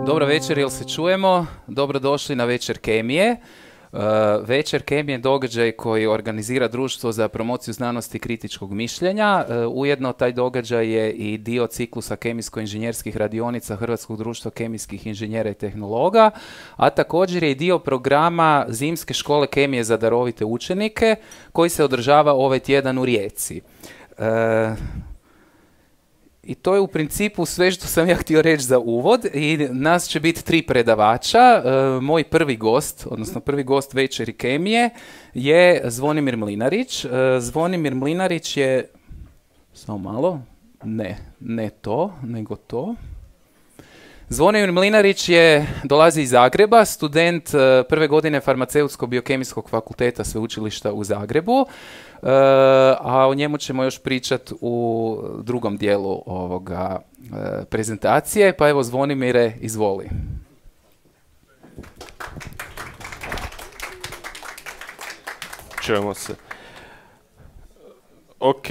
Dobro večer, jel se čujemo? Dobrodošli na Večer kemije. Večer kemije je događaj koji organizira Društvo za promociju znanosti i kritičkog mišljenja. Ujedno taj događaj je i dio ciklusa kemijsko-inženjerskih radionica Hrvatskog društva kemijskih inženjera i tehnologa, a također je i dio programa Zimske škole kemije za darovite učenike koji se održava ovaj tjedan u Rijeci. I to je u principu sve što sam ja htio reći za uvod i nas će biti 3 predavača. Moj prvi gost, odnosno prvi gost Večeri kemije je Zvonimir Mlinarić. Zvonimir Mlinarić je, samo malo, ne to, nego to. Zvonimir Mlinarić dolazi iz Zagreba, student prve godine Farmaceutsko-biokemijskog fakulteta Sveučilišta u Zagrebu, a o njemu ćemo još pričati u drugom dijelu ovoga prezentacije. Pa evo, Zvonimire, izvoli. Čujemo se. Ok.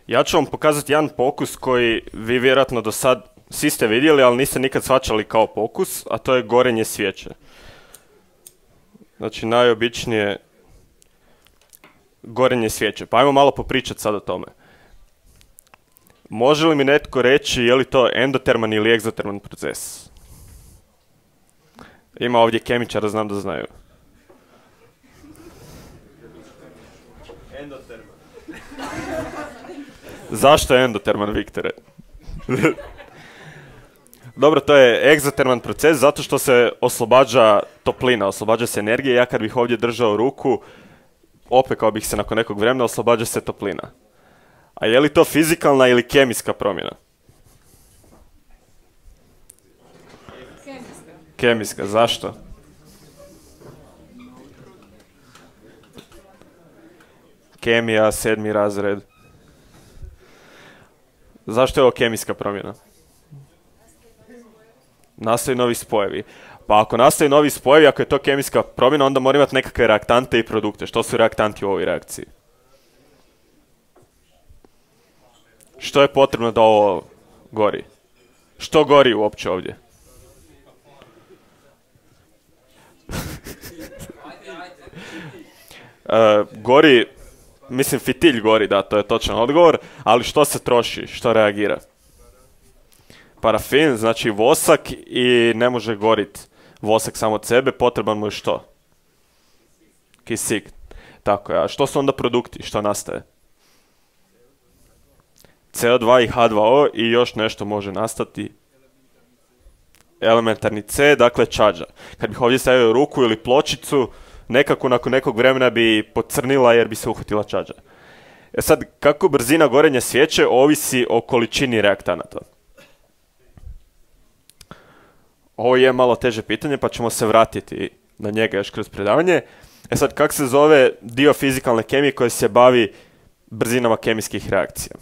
Ja ću vam pokazati jedan pokus koji vi vjerojatno do sad svi ste vidjeli, ali niste nikad shvaćali kao pokus, a to je gorenje svijeće. Znači, najobičnije gorenje svijeće. Pa ajmo malo popričati sad o tome. Može li mi netko reći je li to endoterman ili egzoterman proces? Ima ovdje kemičara, znam da znaju. Endoterman. Zašto je endoterman, Viktore? Dobro, to je egzoterman proces zato što se oslobađa toplina, oslobađa se energija. Ja kad bih ovdje držao ruku, opekao bih se nakon nekog vremena, oslobađa se toplina. A je li to fizikalna ili kemijska promjena? Kemijska, zašto? Kemija, 7. razred. Zašto je ovo kemijska promjena? Nastaju novi spojevi. Pa ako nastaju novi spojevi, ako je to kemijska promjena, onda mora imati nekakve reaktante i produkte. Što su reaktanti u ovoj reakciji? Što je potrebno da ovo gori? Što gori uopće ovdje? Gori, mislim fitilj gori, da, to je točan odgovor, ali što se troši, što reagira? Parafin, znači vosak, i ne može goriti vosak samo od sebe, potreban mu je što? Kisik. Tako je, a što su onda produkti, što nastaje? CO2 i H2O i još nešto može nastati. Elementarni C, dakle čađa. Kad bih ovdje stavio ruku ili pločicu, nekako nakon nekog vremena bi pocrnila jer bi se uhvatila čađa. Sad, kako brzina gorenja svijeće ovisi o količini reaktanata? Ovo je malo teže pitanje, pa ćemo se vratiti na njega još kroz predavanje. Sad, kako se zove dio fizikalne kemije koji se bavi brzinama kemijskih reakcija?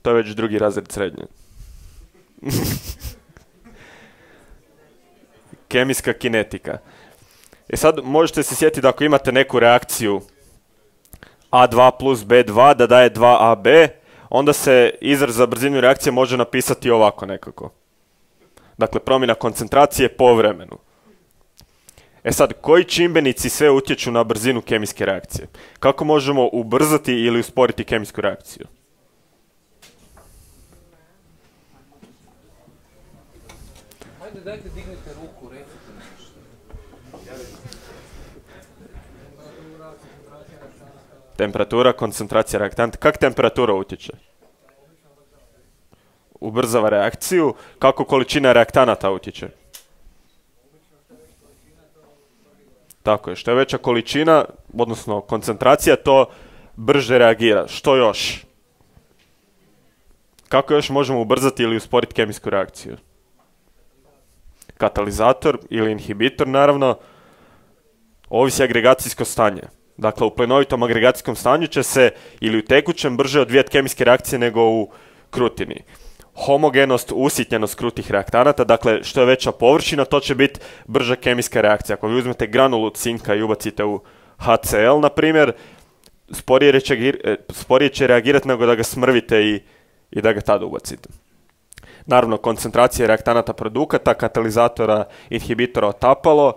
To je već 2. razred srednje. Kemijska kinetika. Sad, možete se sjetiti da ako imate neku reakciju A2 plus B2 da daje 2AB, onda se izraz za brzinu reakcije može napisati ovako nekako. Dakle, promjena koncentracije po vremenu. Sad, koji čimbenici sve utječu na brzinu kemijske reakcije? Kako možemo ubrzati ili usporiti kemijsku reakciju? Ajde, dajte dignite ruku, recite nešto. Temperatura, koncentracija reaktanta. Kako temperatura utječe? Ubrzava reakciju. Kako količina reaktanata utječe? Tako je, što je veća količina, odnosno koncentracija, to brže reagira. Što još? Kako još možemo ubrzati ili usporiti kemijsku reakciju? Katalizator ili inhibitor, naravno, ovisi agregacijsko stanje. Dakle, u plinovitom agregacijskom stanju će se ili u tekućem brže odvijati kemijske reakcije nego u krutini. Homogenost, usitnjenost krutih reaktanata, dakle, što je veća površina, to će biti brža kemijska reakcija. Ako vi uzmete granulu cinka i ubacite u HCl, na primjer, sporije će reagirati nego da ga smrvite i da ga tada ubacite. naravno koncentracije reaktanata produkata, katalizatora, inhibitora otapalo.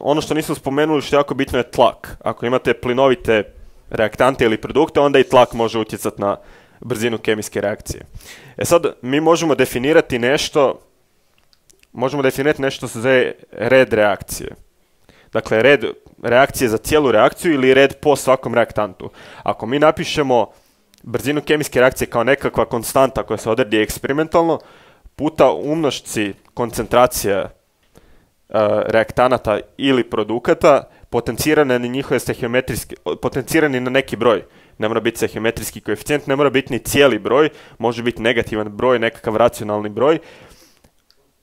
Ono što nismo spomenuli što je jako bitno je tlak. Ako imate plinovite reaktante ili produkte, onda i tlak može utjecati na brzinu kemijske reakcije. Sad, mi možemo definirati nešto što se zove red reakcije. Dakle, red reakcije za cijelu reakciju ili red po svakom reaktantu. Ako mi napišemo brzinu kemijske reakcije kao nekakva konstanta koja se odredi eksperimentalno, puta umnošci koncentracija reaktanata ili produkata, potencirane na njihove stehiometrijske, potencirani na neki broj. Ne mora biti stehiometrijski koeficijent, ne mora biti ni cijeli broj, može biti negativan broj, nekakav racionalni broj.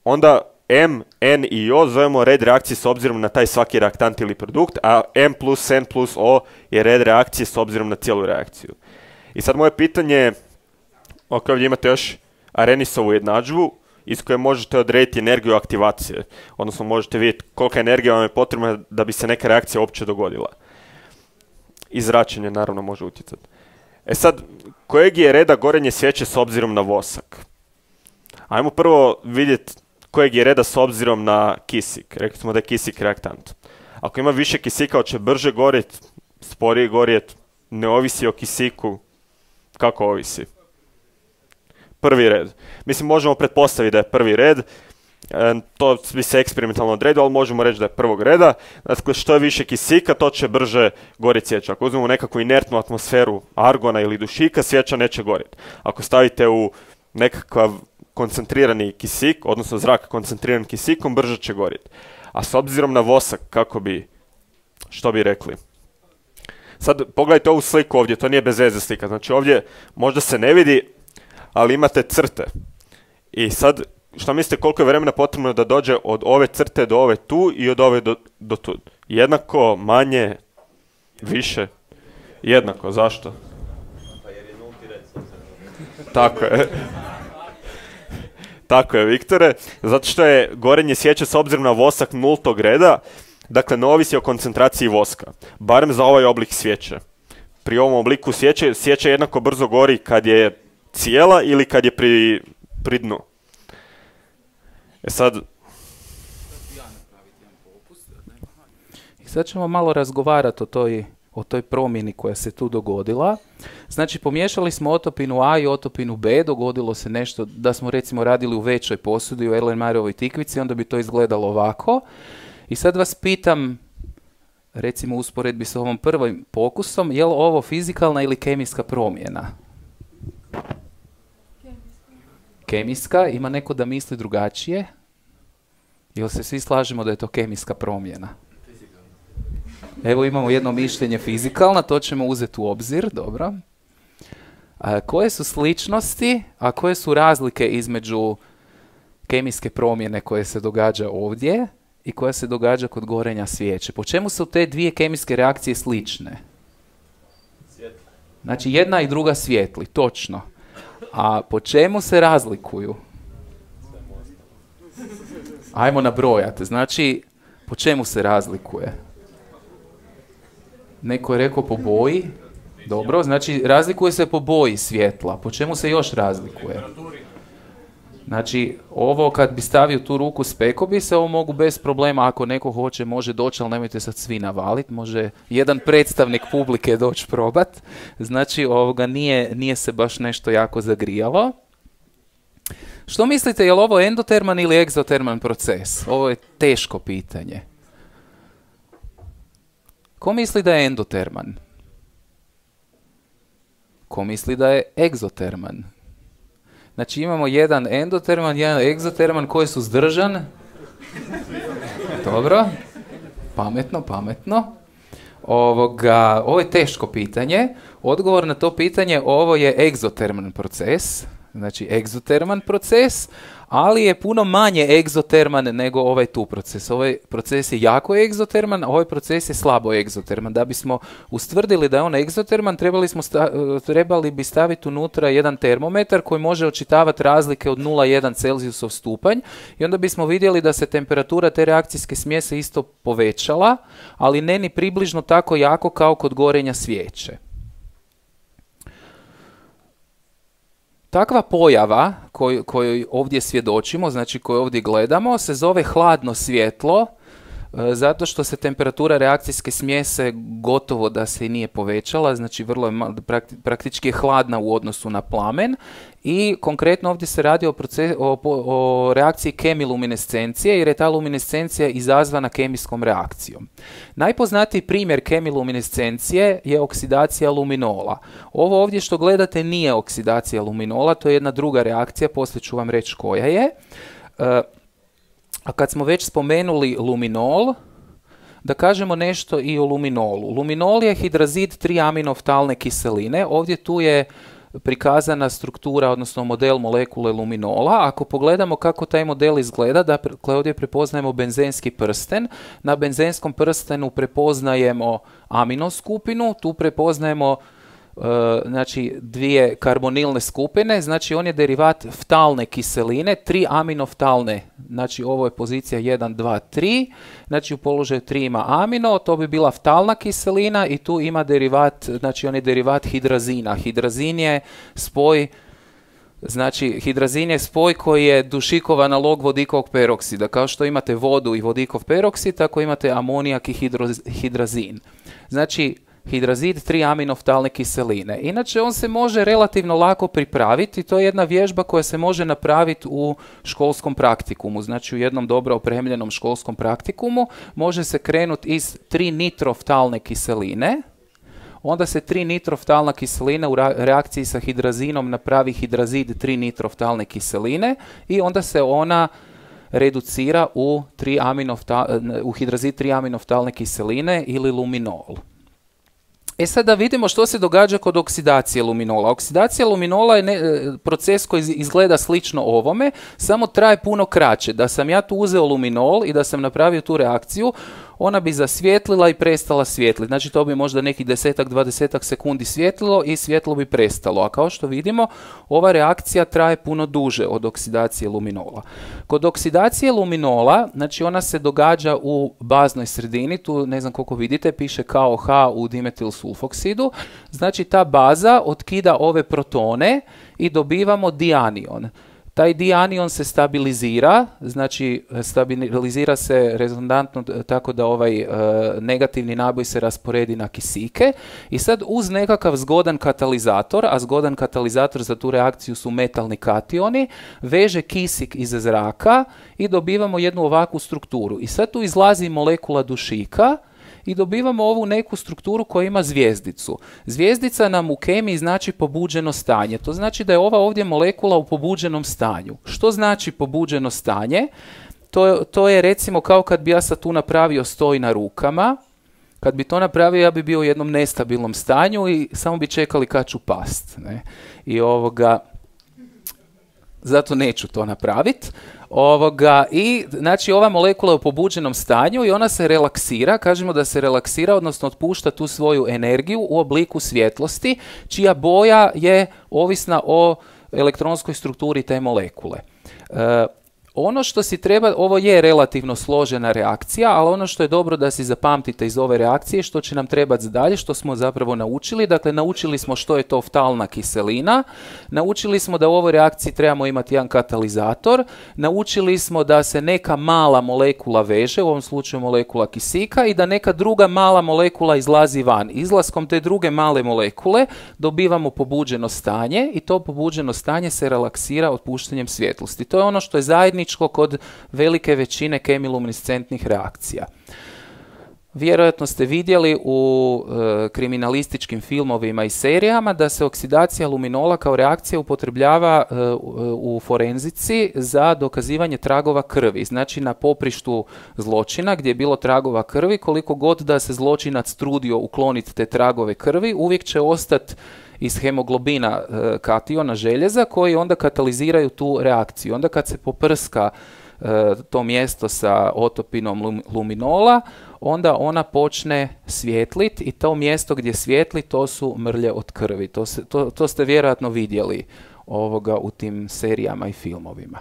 Onda M, N i O zovemo red reakcije s obzirom na taj svaki reaktant ili produkt, a M plus N plus O je red reakcije s obzirom na cijelu reakciju. I sad moje pitanje je, ovdje imate još Arrheniusovu jednadžbu iz koje možete odrediti energiju aktivacije, odnosno možete vidjeti kolika energija vam je potrebna da bi se neka reakcija uopće dogodila. I zračenje naravno može utjecati. Sad, kojeg je reda gorenje svijeće s obzirom na vosak? Ajmo prvo vidjeti kojeg je reda s obzirom na kisik. Rekli smo da je kisik reaktant. Ako ima više kisika, će brže gorjeti, sporije gorjeti, ne ovisi o kisiku. Kako ovisi? Prvi red. Mislim, možemo pretpostaviti da je prvi red, to bi se eksperimentalno odredilo, ali možemo reći da je prvog reda. Dakle, što je više kisika, to će brže gorjeti svijeća. Ako uzmemo nekakvu inertnu atmosferu argona ili dušika, svijeća neće gorjeti. Ako stavite u nekakav koncentrirani kisik, odnosno zrak koncentriran kisikom, brže će gorjeti. A s obzirom na vosak, što bi rekli? Sad pogledajte ovu sliku ovdje, to nije bez veze slika. Znači ovdje možda se ne vidi, ali imate crte. I sad, što mislite koliko je vremena potrebno da dođe od ove crte do ove tu i od ove do tu? Jednako, manje, više? Jednako, zašto? Pa jer je nulti red. Tako je. Tako je, Viktore. Zato što je gorenje svijeće s obzirom na vosak nultog reda, dakle ne ovisi o koncentraciji voska. Barem za ovaj oblik svijeće. Pri ovom obliku svijeća jednako brzo gori kad je cijela ili kad je pri dnu. Sad... I sad ćemo malo razgovarati o toj promjeni koja se tu dogodila. Znači, pomiješali smo otopinu A i otopinu B, dogodilo se nešto da smo recimo radili u većoj posudi, u Erlenmeyerovoj tikvici, onda bi to izgledalo ovako. I sad vas pitam, recimo u usporedbi s ovom prvim pokusom, je li ovo fizikalna ili kemijska promjena? Kemijska. Ima neko da misli drugačije? Jel se svi slažemo da je to kemijska promjena? Evo imamo jedno mišljenje fizikalna, to ćemo uzeti u obzir, dobro. Koje su sličnosti, a koje su razlike između kemijske promjene koje se događa ovdje i koja se događa kod gorenja svijeće? Po čemu su te dvije kemijske reakcije slične? Znači jedna i druga svijetli, točno. A po čemu se razlikuju? Ajmo nabrojati. Znači, po čemu se razlikuje? Neko je rekao po boji. Dobro, znači razlikuje se po boji svjetla. Po čemu se još razlikuje? Znači, ovo kad bi stavio tu ruku spekao bi se, ovo mogu bez problema, ako neko hoće, može doći, ali nemojte sad svi navaliti, može jedan predstavnik publike doći probat. Znači, ovoga nije se baš nešto jako zagrijalo. Što mislite, je li ovo endoterman ili egzoterman proces? Ovo je teško pitanje. Ko misli da je endoterman? Ko misli da je egzoterman? Znači imamo jedan endoterman, jedan egzoterman, koji su suzdržan. Dobro. Pametno. Ovo je teško pitanje. Odgovor na to pitanje, ovo je egzoterman proces. Znači egzoterman proces, ali je puno manje egzoterman nego ovaj tu proces. Ovaj proces je jako egzoterman, a ovaj proces je slabo egzoterman. Da bismo ustvrdili da je on egzoterman, trebali bi staviti unutra jedan termometar koji može očitavati razlike od 0,1 Celzijusov stupanj i onda bismo vidjeli da se temperatura te reakcijske smjese isto povećala, ali ne ni približno tako jako kao kod gorenja svijeće. Takva pojava koju ovdje svjedočimo, znači koju ovdje gledamo, se zove hladno svjetlo, zato što se temperatura reakcijske smjese gotovo da se i nije povećala, znači vrlo je praktički je hladna u odnosu na plamen i konkretno ovdje se radi o reakciji kemiluminescencije jer je ta luminescencija izazvana kemijskom reakcijom. Najpoznatiji primjer kemiluminescencije je oksidacija luminola. Ovo ovdje što gledate nije oksidacija luminola, to je jedna druga reakcija, poslije ću vam reći koja je. A kad smo već spomenuli luminol, da kažemo nešto i o luminolu. Luminol je hidrazid 3-aminoftalne kiseline. Ovdje tu je prikazana struktura, odnosno model molekule luminola. Ako pogledamo kako taj model izgleda, dakle ovdje prepoznajemo benzenski prsten. Na benzenskom prstenu prepoznajemo aminoskupinu, tu prepoznajemo znači dvije karbonilne skupine, znači on je derivat ftalne kiseline, 3 aminoftalne, znači ovo je pozicija 1, 2, 3, znači u položaju 3 ima amino, to bi bila ftalna kiselina i tu ima derivat, znači on je derivat hidrazina. Hidrazin je spoj, znači hidrazin je spoj koji je dušikov analog vodikovog peroksida. Kao što imate vodu i vodikov peroksid, tako imate amonijak i hidrazin. Znači hidrazid 3-aminoftalne kiseline. Inače, on se može relativno lako pripraviti. To je jedna vježba koja se može napraviti u školskom praktikumu. Znači, u jednom dobro opremljenom školskom praktikumu može se krenuti iz 3-nitroftalne kiseline. Onda se 3-nitroftalna kiselina u reakciji sa hidrazinom napravi hidrazid 3-nitroftalne kiseline i onda se ona reducira u hidrazid 3-aminoftalne kiseline ili luminol. E sad da vidimo što se događa kod oksidacije luminola. Oksidacija luminola je proces koji izgleda slično ovome, samo traje puno kraće. Da sam ja tu uzeo luminol i da sam napravio tu reakciju, ona bi zasvijetlila i prestala svijetliti. Znači to bi možda nekih 10-20 sekundi svjetlilo i svjetlo bi prestalo. A kao što vidimo, ova reakcija traje puno duže od oksidacije luminola. Kod oksidacije luminola, znači ona se događa u baznoj sredini, tu ne znam koliko vidite, piše KOH u dimetil sulfoksidu. Znači ta baza otkida ove protone i dobivamo dianion. Taj dianion se stabilizira, znači stabilizira se rezonantno tako da ovaj negativni naboj se rasporedi na kisike i sad uz nekakav zgodan katalizator, a zgodan katalizator za tu reakciju su metalni kationi, veže kisik iz zraka i dobivamo jednu ovakvu strukturu. I sad tu izlazi molekula dušika i dobivamo ovu neku strukturu koja ima zvjezdicu. Zvjezdica nam u kemiji znači pobuđeno stanje. To znači da je ova ovdje molekula u pobuđenom stanju. Što znači pobuđeno stanje? To je recimo kao kad bi ja sad tu napravio stoj na rukama. Kad bi to napravio, ja bi bio u jednom nestabilnom stanju i samo bi čekali kad ću past. Ne? I zato neću to napraviti. I znači ova molekula je u pobuđenom stanju i ona se relaksira, kažemo da se relaksira, odnosno otpušta tu svoju energiju u obliku svjetlosti, čija boja je ovisna o elektronskoj strukturi te molekule. Ono što si treba, ovo je relativno složena reakcija, ali ono što je dobro da si zapamtite iz ove reakcije, što će nam trebati dalje, što smo zapravo naučili. Dakle, naučili smo što je to ftalna kiselina, naučili smo da u ovoj reakciji trebamo imati jedan katalizator, naučili smo da se neka mala molekula veže, u ovom slučaju molekula kisika, i da neka druga mala molekula izlazi van. Izlaskom te druge male molekule dobivamo pobuđeno stanje i to pobuđeno stanje se relaksira otpuštanjem svjetlosti. To je ono što je zajedničko kod velike većine kemiluminescentnih reakcija. Vjerojatno ste vidjeli u kriminalističkim filmovima i serijama da se oksidacija luminola kao reakcija upotrebljava u forenzici za dokazivanje tragova krvi. Znači na poprištu zločina gdje je bilo tragova krvi, koliko god da se zločinac trudio ukloniti te tragove krvi, uvijek će ostati iz hemoglobina kationa željeza koji onda kataliziraju tu reakciju. Onda kad se poprska to mjesto sa otopinom luminola, onda ona počne svjetliti i to mjesto gdje svijetli to su mrlje od krvi. To ste vjerojatno vidjeli u tim serijama i filmovima.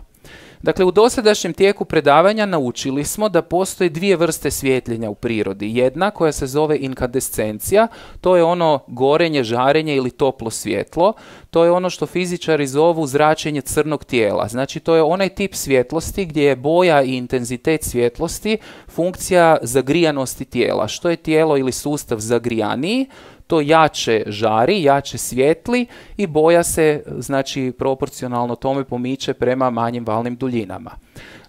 Dakle, u dosadašnjem tijeku predavanja naučili smo da postoje dvije vrste svjetljenja u prirodi. Jedna koja se zove inkandescencija, to je ono gorenje, žarenje ili toplo svjetlo. To je ono što fizičari zovu zračenje crnog tijela. Znači, to je onaj tip svjetlosti gdje je boja i intenzitet svjetlosti funkcija zagrijanosti tijela. Što je tijelo ili sustav zagrijaniji, to jače žari, jače svijetli i boja se, znači, proporcionalno tome pomiče prema manjim valnim duljinama.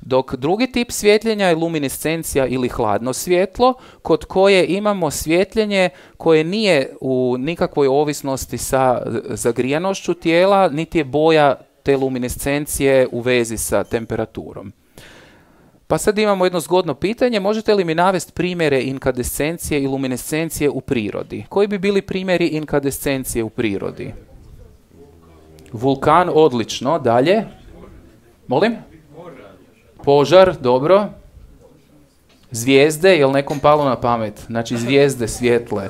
Dok drugi tip svjetljenja je luminescencija ili hladno svjetlo, kod koje imamo svjetljenje koje nije u nikakvoj ovisnosti sa zagrijanošću tijela, niti je boja te luminescencije u vezi sa temperaturom. Pa sad imamo jedno zgodno pitanje, možete li mi navesti primjere inkandescencije i luminescencije u prirodi? Koji bi bili primjeri inkandescencije u prirodi? Vulkan, odlično. Dalje? Molim? Požar, dobro. Zvijezde, je li nekom palo na pamet? Znači zvijezde svijetle.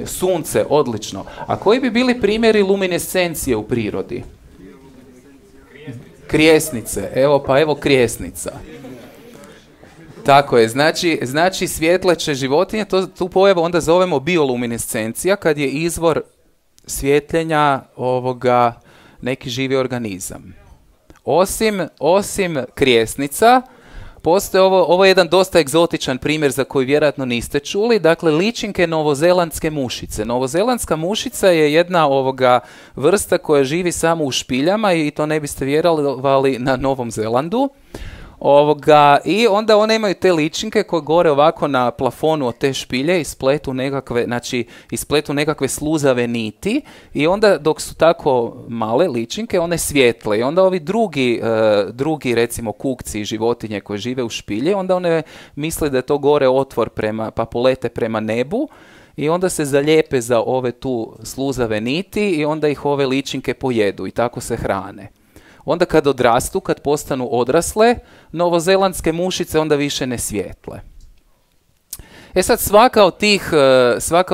Sunce, odlično. A koji bi bili primjeri luminescencije u prirodi? Krijesnice, evo krijesnica. Tako je, znači svjetleće životinje, tu pojavu onda zovemo bioluminescencija, kad je izvor svjetljenja neki živi organizam. Osim krijesnica, postoje ovo je jedan dosta egzotičan primjer za koji vjerojatno niste čuli, dakle ličinke novozelandske mušice. Novozelandska mušica je jedna vrsta koja živi samo u špiljama i to ne biste vjerovali na Novom Zelandu. I onda one imaju te ličinke koje gore ovako na plafonu od te špilje ispletu nekakve sluzave niti i onda dok su tako male ličinke one svijetle i onda ovi drugi recimo kukci i životinje koje žive u špilje onda one misle da je to gore otvor pa polete prema nebu i onda se zalijepe za ove tu sluzave niti i onda ih ove ličinke pojedu i tako se hrane. Onda kad odrastu, kad postanu odrasle, novozelandske mušice onda više ne svijetle. Sad svaka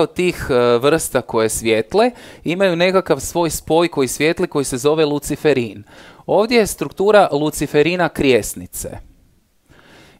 od tih vrsta koje svijetle imaju nekakav svoj spoj koji svijetli koji se zove luciferin. Ovdje je struktura luciferina krijesnice.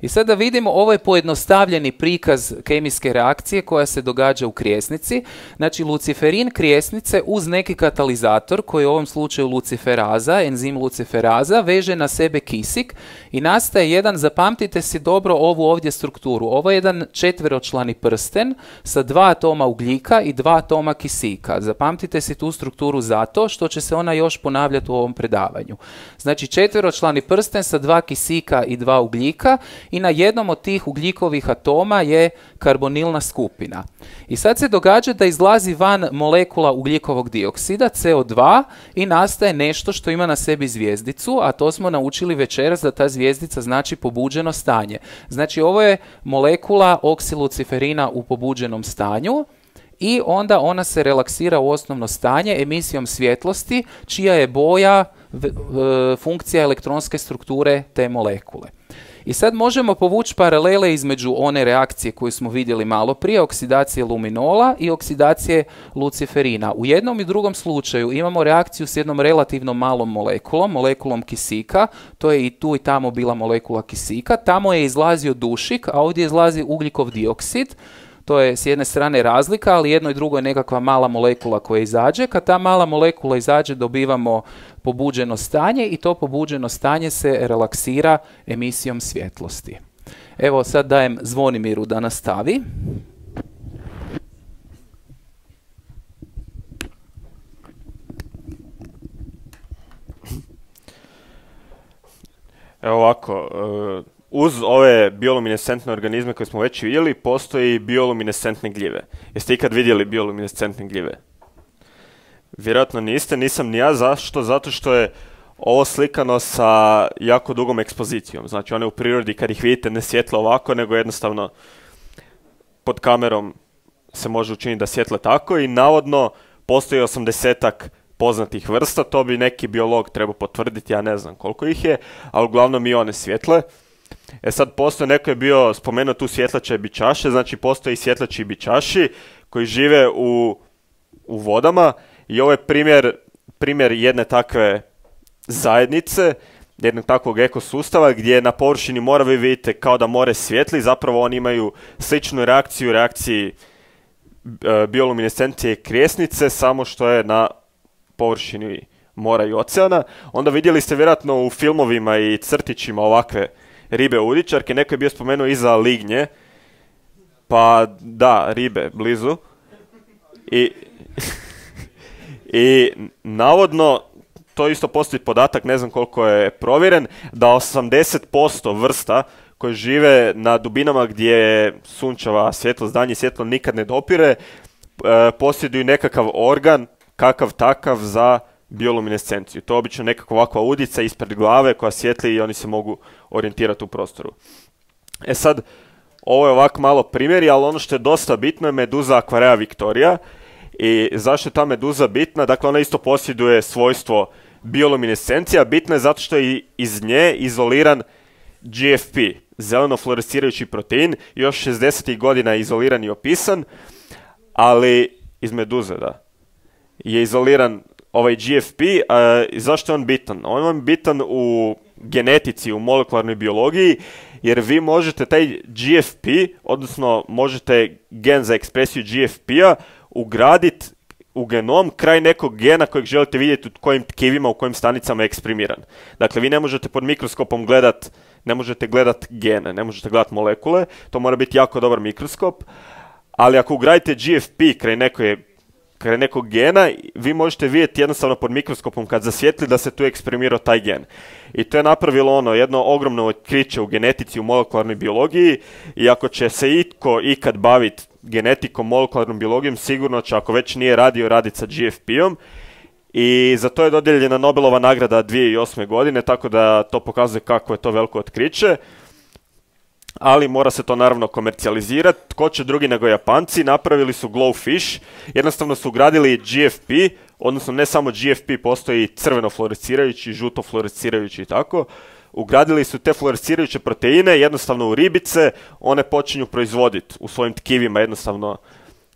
I sad da vidimo, ovo je pojednostavljeni prikaz kemijske reakcije koja se događa u krijesnici. Znači, luciferin krijesnice uz neki katalizator, koji je u ovom slučaju luciferaza, enzim luciferaza, veže na sebe kisik i nastaje jedan, zapamtite si dobro ovu ovdje strukturu, ovo je jedan četveročlani prsten sa 2 atoma ugljika i 2 atoma kisika. Zapamtite si tu strukturu zato što će se ona još ponavljati u ovom predavanju. Znači, četveročlani prsten sa 2 kisika i 2 ugljika i na jednom od tih ugljikovih atoma je karbonilna skupina. I sad se događa da izlazi van molekula ugljikovog dioksida, CO2, i nastaje nešto što ima na sebi zvijezdicu, a to smo naučili večeras da ta zvijezdica znači pobuđeno stanje. Znači, ovo je molekula oksiluciferina u pobuđenom stanju i onda ona se relaksira u osnovno stanje emisijom svjetlosti, čija je boja funkcija elektronske strukture te molekule. I sad možemo povući paralele između one reakcije koju smo vidjeli malo prije, oksidacije luminola i oksidacije luciferina. U jednom i drugom slučaju imamo reakciju s jednom relativno malom molekulom kisika, to je i tu i tamo bila molekula kisika, tamo je izlazio dušik, a ovdje izlazi ugljikov dioksid. To je s jedne strane razlika, ali jedno i drugo je nekakva mala molekula koja izađe. Kad ta mala molekula izađe, dobivamo pobuđeno stanje i to pobuđeno stanje se relaksira emisijom svjetlosti. Evo sad dajem Zvonimiru da nastavi. Evo ovako, uz ove bioluminescentne organizme koje smo već vidjeli, postoji bioluminescentne gljive. Jeste ikad vidjeli bioluminescentne gljive? Vjerojatno niste, nisam ni ja. Zašto? Zato što je ovo slikano sa jako dugom ekspozicijom. Znači, one u prirodi kad ih vidite ne svjetle ovako, nego jednostavno pod kamerom se može učiniti da svjetle tako i navodno postoji 80-ak poznatih vrsta, to bi neki biolog trebao potvrditi, ja ne znam koliko ih je, ali uglavnom i one svjetle. Sad postoje, neko je bio spomenuo tu svjetlače bičaše, znači postoji svjetlači bičaši koji žive u vodama i ovo je primjer jedne takve zajednice jednog takvog ekosustava gdje na površini mora vi vidite kao da more svijetli, zapravo oni imaju sličnu reakciju reakciji bioluminescencije krijesnice, samo što je na površini mora i oceana. Onda vidjeli ste vjerojatno u filmovima i crtićima ovakve ribe udičarke, neko je bio spomenuo iza lignje, pa da, ribe blizu. I navodno, to isto postoji podatak, ne znam koliko je provjeren, da 80% vrsta koje žive na dubinama gdje sunčeva svjetlost, danje svjetlo nikad ne dopire, posjeduju nekakav organ, kakav takav, za bioluminescenciju. To je obično nekakva ovakva udica ispred glave koja svijetli i oni se mogu orijentirati u prostoru. E sad, ovo je ovako malo primjeri, ali ono što je dosta bitno je meduza Aquarea victoria. I zašto je ta meduza bitna? Dakle, ona isto posjeduje svojstvo bioluminescencija. Bitna je zato što je iz nje izoliran GFP, zeleno fluorescirajući protein. Još 60. godina je izoliran i opisan, ali iz meduze, da, je izoliran ovaj GFP. Zašto je on bitan? On je bitan u genetici, u molekularnoj biologiji, jer vi možete taj GFP, odnosno možete gen za ekspresiju GFP-a ugraditi u genom kraj nekog gena kojeg želite vidjeti u kojim tkivima, u kojim stanicama je eksprimiran. Dakle, vi ne možete pod mikroskopom ne možete gledat gene, ne možete gledat molekule, to mora biti jako dobar mikroskop, ali ako ugradite GFP kraj nekog gena, vi možete vidjeti jednostavno pod mikroskopom kad zasvijetli da se tu eksprimirao taj gen. I to je napravilo jedno ogromno otkriće u genetici, u molekularnoj biologiji, i ako će se itko ikad baviti genetikom, molekularnom biologijom, sigurno će, ako već nije radio, raditi sa GFP-om. I za to je dodijeljena Nobelova nagrada 2008. godine, tako da to pokazuje kako je to veliko otkriće. Ali mora se to naravno komercijalizirati. Tko će drugi nego Japanci? Napravili su Glowfish, jednostavno su ugradili GFP, odnosno ne samo GFP, postoji crveno fluorescirajući, žuto fluorescirajući i tako. Ugradili su te fluorescirajuće proteine jednostavno u ribice, one počinju proizvoditi u svojim tkivima jednostavno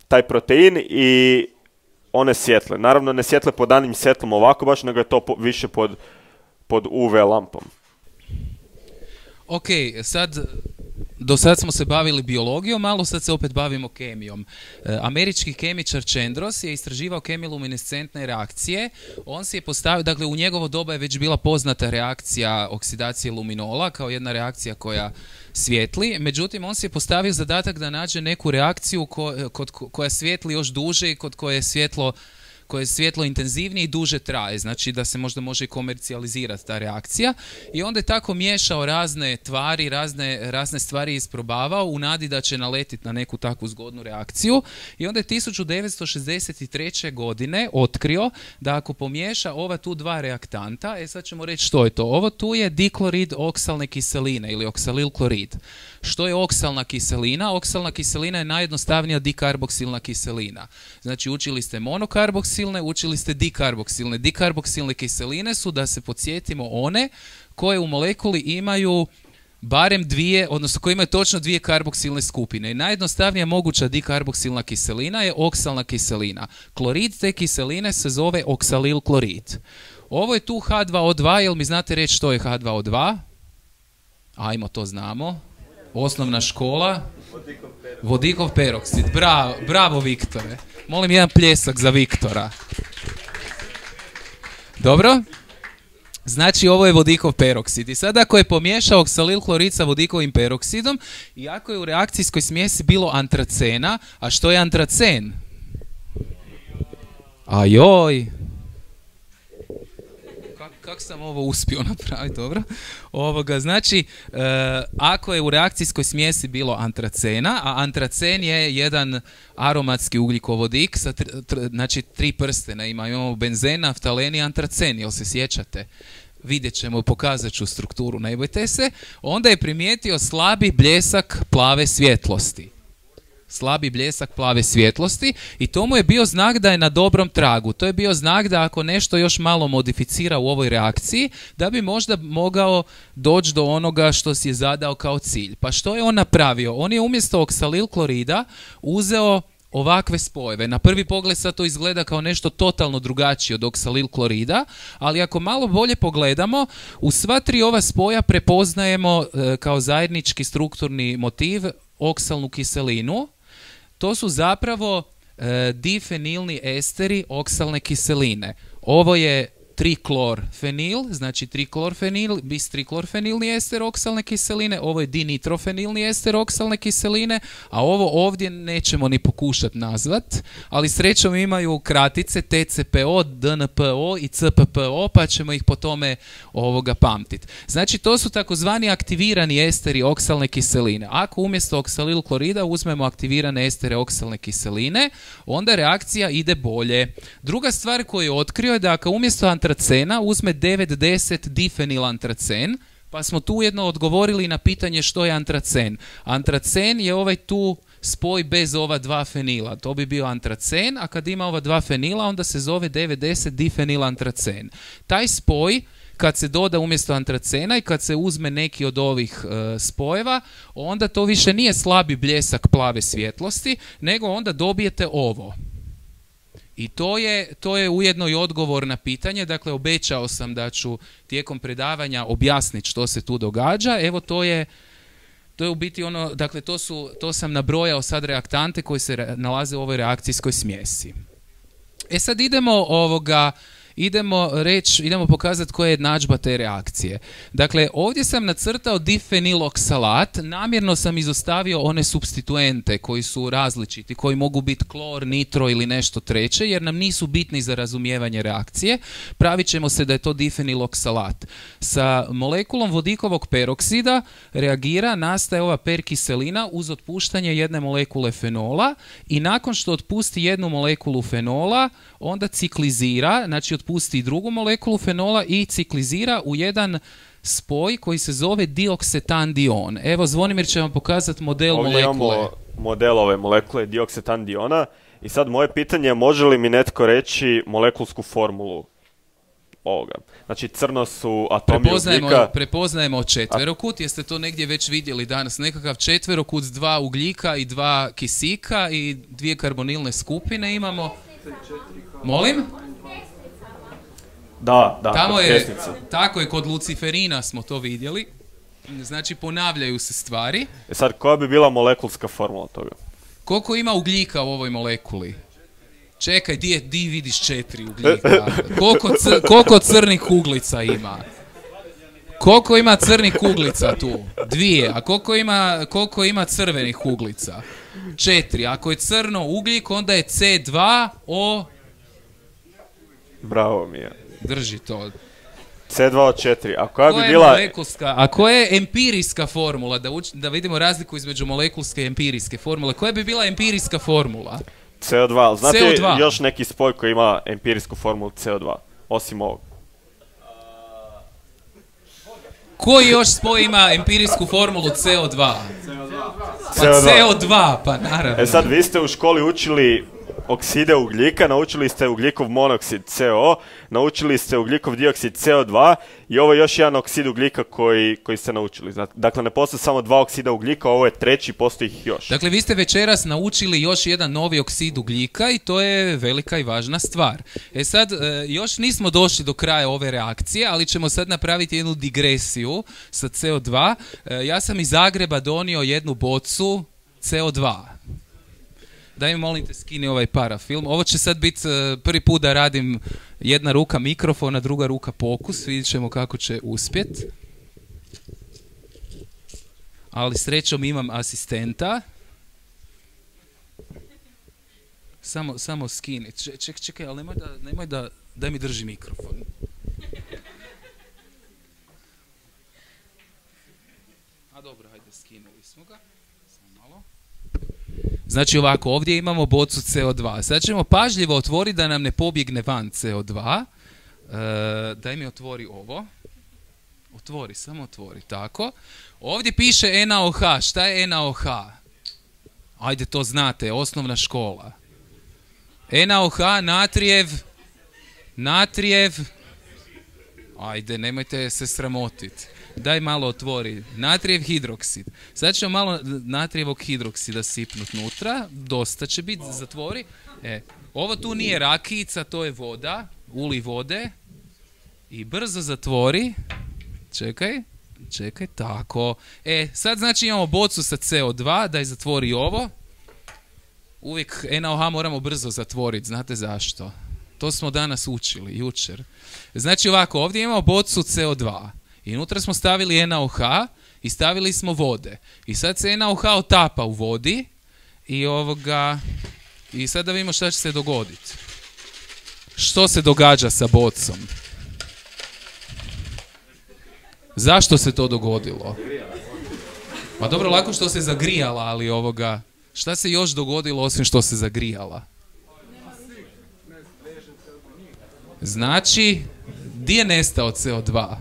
taj protein i one svjetle. Naravno ne svjetle pod danim svjetlom ovako baš, nego je to više pod UV lampom. Ok, do sad smo se bavili biologijom, malo sad se opet bavimo kemijom. Američki kemičar Chandros je istraživao kemiluminescentne reakcije. On si je postavio, dakle u njegovo doba je već bila poznata reakcija oksidacije luminola kao jedna reakcija koja svijetli. Međutim, on si je postavio zadatak da nađe neku reakciju koja svijetli još duže i kod koje je svjetlo intenzivnije i duže traje, znači da se možda može i komercijalizirati ta reakcija. I onda je tako miješao razne tvari, razne stvari isprobavao u nadi da će naletiti na neku takvu zgodnu reakciju. I onda je 1963. godine otkrio da ako pomiješa ova tu dva reaktanta, sad ćemo reći što je to. Ovo tu je diklorid oksalne kiseline ili oksalil klorid. Što je oksalna kiselina? Oksalna kiselina je najjednostavnija dikarboksilna kiselina. Znači učili ste monokarboksilne, učili ste dikarboksilne. Dikarboksilne kiseline su, da se podsjetimo, one koje u molekuli imaju barem dvije, odnosno koje imaju točno dvije karboksilne skupine. I najjednostavnija moguća dikarboksilna kiselina je oksalna kiselina. Klorid te kiseline se zove oksalil klorid. Ovo je tu H2O2, jel mi znate reći što je H2O2? Ajmo, to znamo. Osnovna škola. Vodikov peroksid. Bravo Viktore. Molim jedan pljesak za Viktora. Dobro? Znači ovo je vodikov peroksid. I sad ako je pomiješao oksalil klorid sa vodikovim peroksidom i ako je u reakcijskoj smjesi bilo antracena, a što je antracen? Ajoj! Kako sam ovo uspio napraviti, dobro? Znači, ako je u reakcijskoj smjesi bilo antracena, a antracen je jedan aromatski ugljikovodik, znači 3 prstena imamo benzen, naftalen i antracen, jel se sjećate? Vidjet ćemo, pokazat ću strukturu, ne bojte se. Onda je primijetio slabi bljesak plave svjetlosti. Slabi bljesak plave svjetlosti i to mu je bio znak da je na dobrom tragu. To je bio znak da ako nešto još malo modificira u ovoj reakciji, da bi možda mogao doći do onoga što si je zadao kao cilj. Pa što je on napravio? On je umjesto oksalil klorida uzeo ovakve spojeve. Na prvi pogled sad to izgleda kao nešto totalno drugačije od oksalil klorida, ali ako malo bolje pogledamo, u sva tri ova spoja prepoznajemo kao zajednički strukturni motiv oksalnu kiselinu. To su zapravo difenilni esteri oksalne kiseline. Ovo je triklorfenil, znači triklorfenil, bistriklorfenilni ester oksalne kiseline, ovo je dinitrofenilni ester oksalne kiseline, a ovo ovdje nećemo ni pokušati nazvat, ali srećom imaju kratice TCPO, DNPO i CPPO, pa ćemo ih po tome pamtiti. Znači to su takozvani aktivirani esteri oksalne kiseline. Ako umjesto oksalil klorida uzmemo aktivirane estere oksalne kiseline, onda reakcija ide bolje. Druga stvar koju je otkrio je da ako umjesto antracena uzme 9,10 difenilantracen, pa smo tu ujedno odgovorili na pitanje što je antracen. Antracen je ovaj tu spoj bez ova dva fenila. To bi bio antracen, a kad ima ova dva fenila onda se zove 9,10 difenilantracen. Taj spoj kad se doda umjesto antracena i kad se uzme neki od ovih spojeva, onda to više nije slabi bljesak plave svjetlosti, nego onda dobijete ovo. I to je ujedno i odgovor na pitanje, dakle obećao sam da ću tijekom predavanja objasniti što se tu događa. Evo to je u biti ono, dakle to sam nabrojao sad reaktante koji se nalaze u ovoj reakcijskoj smjesi. E sad idemo pokazati koja je jednadžba te reakcije. Dakle, ovdje sam nacrtao difeniloksalat, namjerno sam izostavio one supstituente koji su različiti, koji mogu biti klor, nitro ili nešto treće, jer nam nisu bitni za razumijevanje reakcije. Pravit ćemo se da je to difeniloksalat. Sa molekulom vodikovog peroksida reagira, nastaje ova perkiselina uz otpuštanje jedne molekule fenola i nakon što otpusti jednu molekulu fenola, onda ciklizira, znači otpusti drugu molekulu fenola i ciklizira u jedan spoj koji se zove dioksetandion. Evo, Zvonimir će vam pokazati model molekule. Ovdje imamo model ove molekule dioksetandiona i sad moje pitanje je može li mi netko reći molekulsku formulu ovoga. Znači crno su atomi ugljika. Prepoznajemo četverokut, jeste to negdje već vidjeli danas, nekakav četverokut s 2 ugljika i 2 kisika i 2 karbonilne skupine imamo. Molim? Da, tamo je, tako je, kod luciferina smo to vidjeli. Znači ponavljaju se stvari. Sad, koja bi bila molekulska formula toga? Koliko ima ugljika u ovoj molekuli? Čekaj, di vidiš 4 ugljika? Koliko crnih uglica ima? Koliko ima crnih uglica tu? 2. A koliko ima crvenih uglica? 4. Ako je crno ugljik, onda je C2O... Bravo mi je. Drži to. C2O4. A koja bi bila... A koja je empirijska formula? Da vidimo razliku između molekulske i empirijske formule. Koja bi bila empirijska formula? CO2. Znate CO2. Još neki spoj koji ima empirijsku formulu CO2? Osim ovog. Koji još spoj ima empirijsku formulu CO2? Pa CO2, pa naravno. E sad, vi ste u školi učili okside ugljika, naučili ste ugljikov monoksid CO, naučili ste ugljikov dioksid CO2 i ovo je još jedan oksid ugljika koji ste naučili. Dakle, ne postoje samo 2 oksida ugljika, ovo je treći, postoji ih još. Dakle, vi ste večeras naučili još jedan novi oksid ugljika i to je velika i važna stvar. E sad, još nismo došli do kraja ove reakcije, ali ćemo sad napraviti jednu digresiju sa CO2. Ja sam iz Zagreba donio jednu bocu CO2. Daj mi molim te skini ovaj parafilm. Ovo će sad biti prvi put da radim jedna ruka mikrofona, druga ruka pokus. Vidjet ćemo kako će uspjet. Ali srećom imam asistenta. Samo skini. Čekaj, ali nemoj da daj mi drži mikrofon. A dobro, hajde, skinuli smo ga. Samo malo. Znači ovako, ovdje imamo bocu CO2. Sad ćemo pažljivo otvoriti da nam ne pobjegne van CO2. Daj mi otvori ovo. Samo otvori, tako. Ovdje piše NaOH. Šta je NaOH? Ajde, to znate, osnovna škola. NaOH, natrijev. Ajde, nemojte se sramotiti. Daj malo otvori. Natrijev hidroksid. Sad ćemo malo natrijevog hidroksida sipnut nutra. Dosta će biti, zatvori. Ovo tu nije rakijica, to je voda. Uli vode. I brzo zatvori. Čekaj, tako. Sad znači imamo bocu sa CO2, daj zatvori ovo. Uvijek NaOH moramo brzo zatvoriti, znate zašto? To smo danas učili, jučer. Znači ovako, ovdje imamo bocu CO2 i unutra smo stavili NaOH i stavili smo vode. I sad se NaOH otapa u vodi i sad da vidimo šta će se dogoditi. Što se događa sa bocom? Zašto se to dogodilo? Pa dobro, lako što se zagrijala, ali šta se još dogodilo osim što se zagrijala? Znači, di je nestao CO2?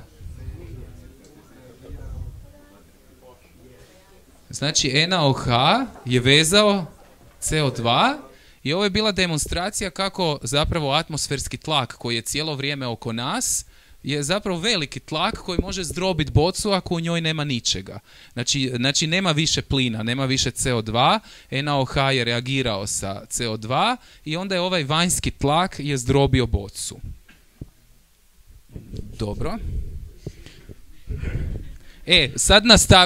Znači, NaOH je vezao CO2 i ovo je bila demonstracija kako zapravo atmosferski tlak koji je cijelo vrijeme oko nas je zapravo veliki tlak koji može zdrobiti bocu ako u njoj nema ničega. Znači nema više plina, nema više CO2, NaOH je reagirao sa CO2 i onda je ovaj vanjski tlak je zdrobio bocu. Dobro. Sad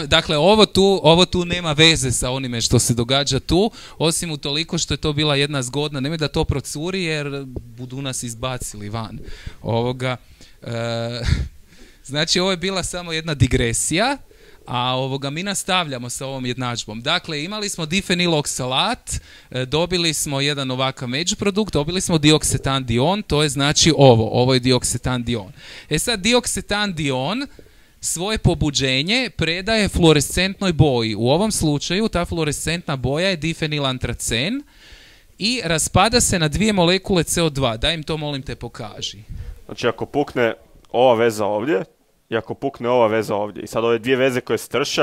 dakle ovo tu nema veze sa onime što se događa tu, osim utoliko što je to bila jedna zgodna, nemoj da to procuri jer budu nas izbacili van. Znači ovo je bila samo jedna digresija, a mi nastavljamo sa ovom jednadžbom. Dakle, imali smo difeniloksalat, dobili smo jedan ovakav međuprodukt, dobili smo dioksetandion, to je znači ovo je dioksetandion. Sad dioksetandion svoje pobuđenje predaje fluorescentnoj boji. U ovom slučaju ta fluorescentna boja je difenilantracen i raspada se na 2 molekule CO2. Daj im to, molim te, pokaži. Znači ako pukne ova veza ovdje i ako pukne ova veza ovdje i sad ove dvije veze koje se trše,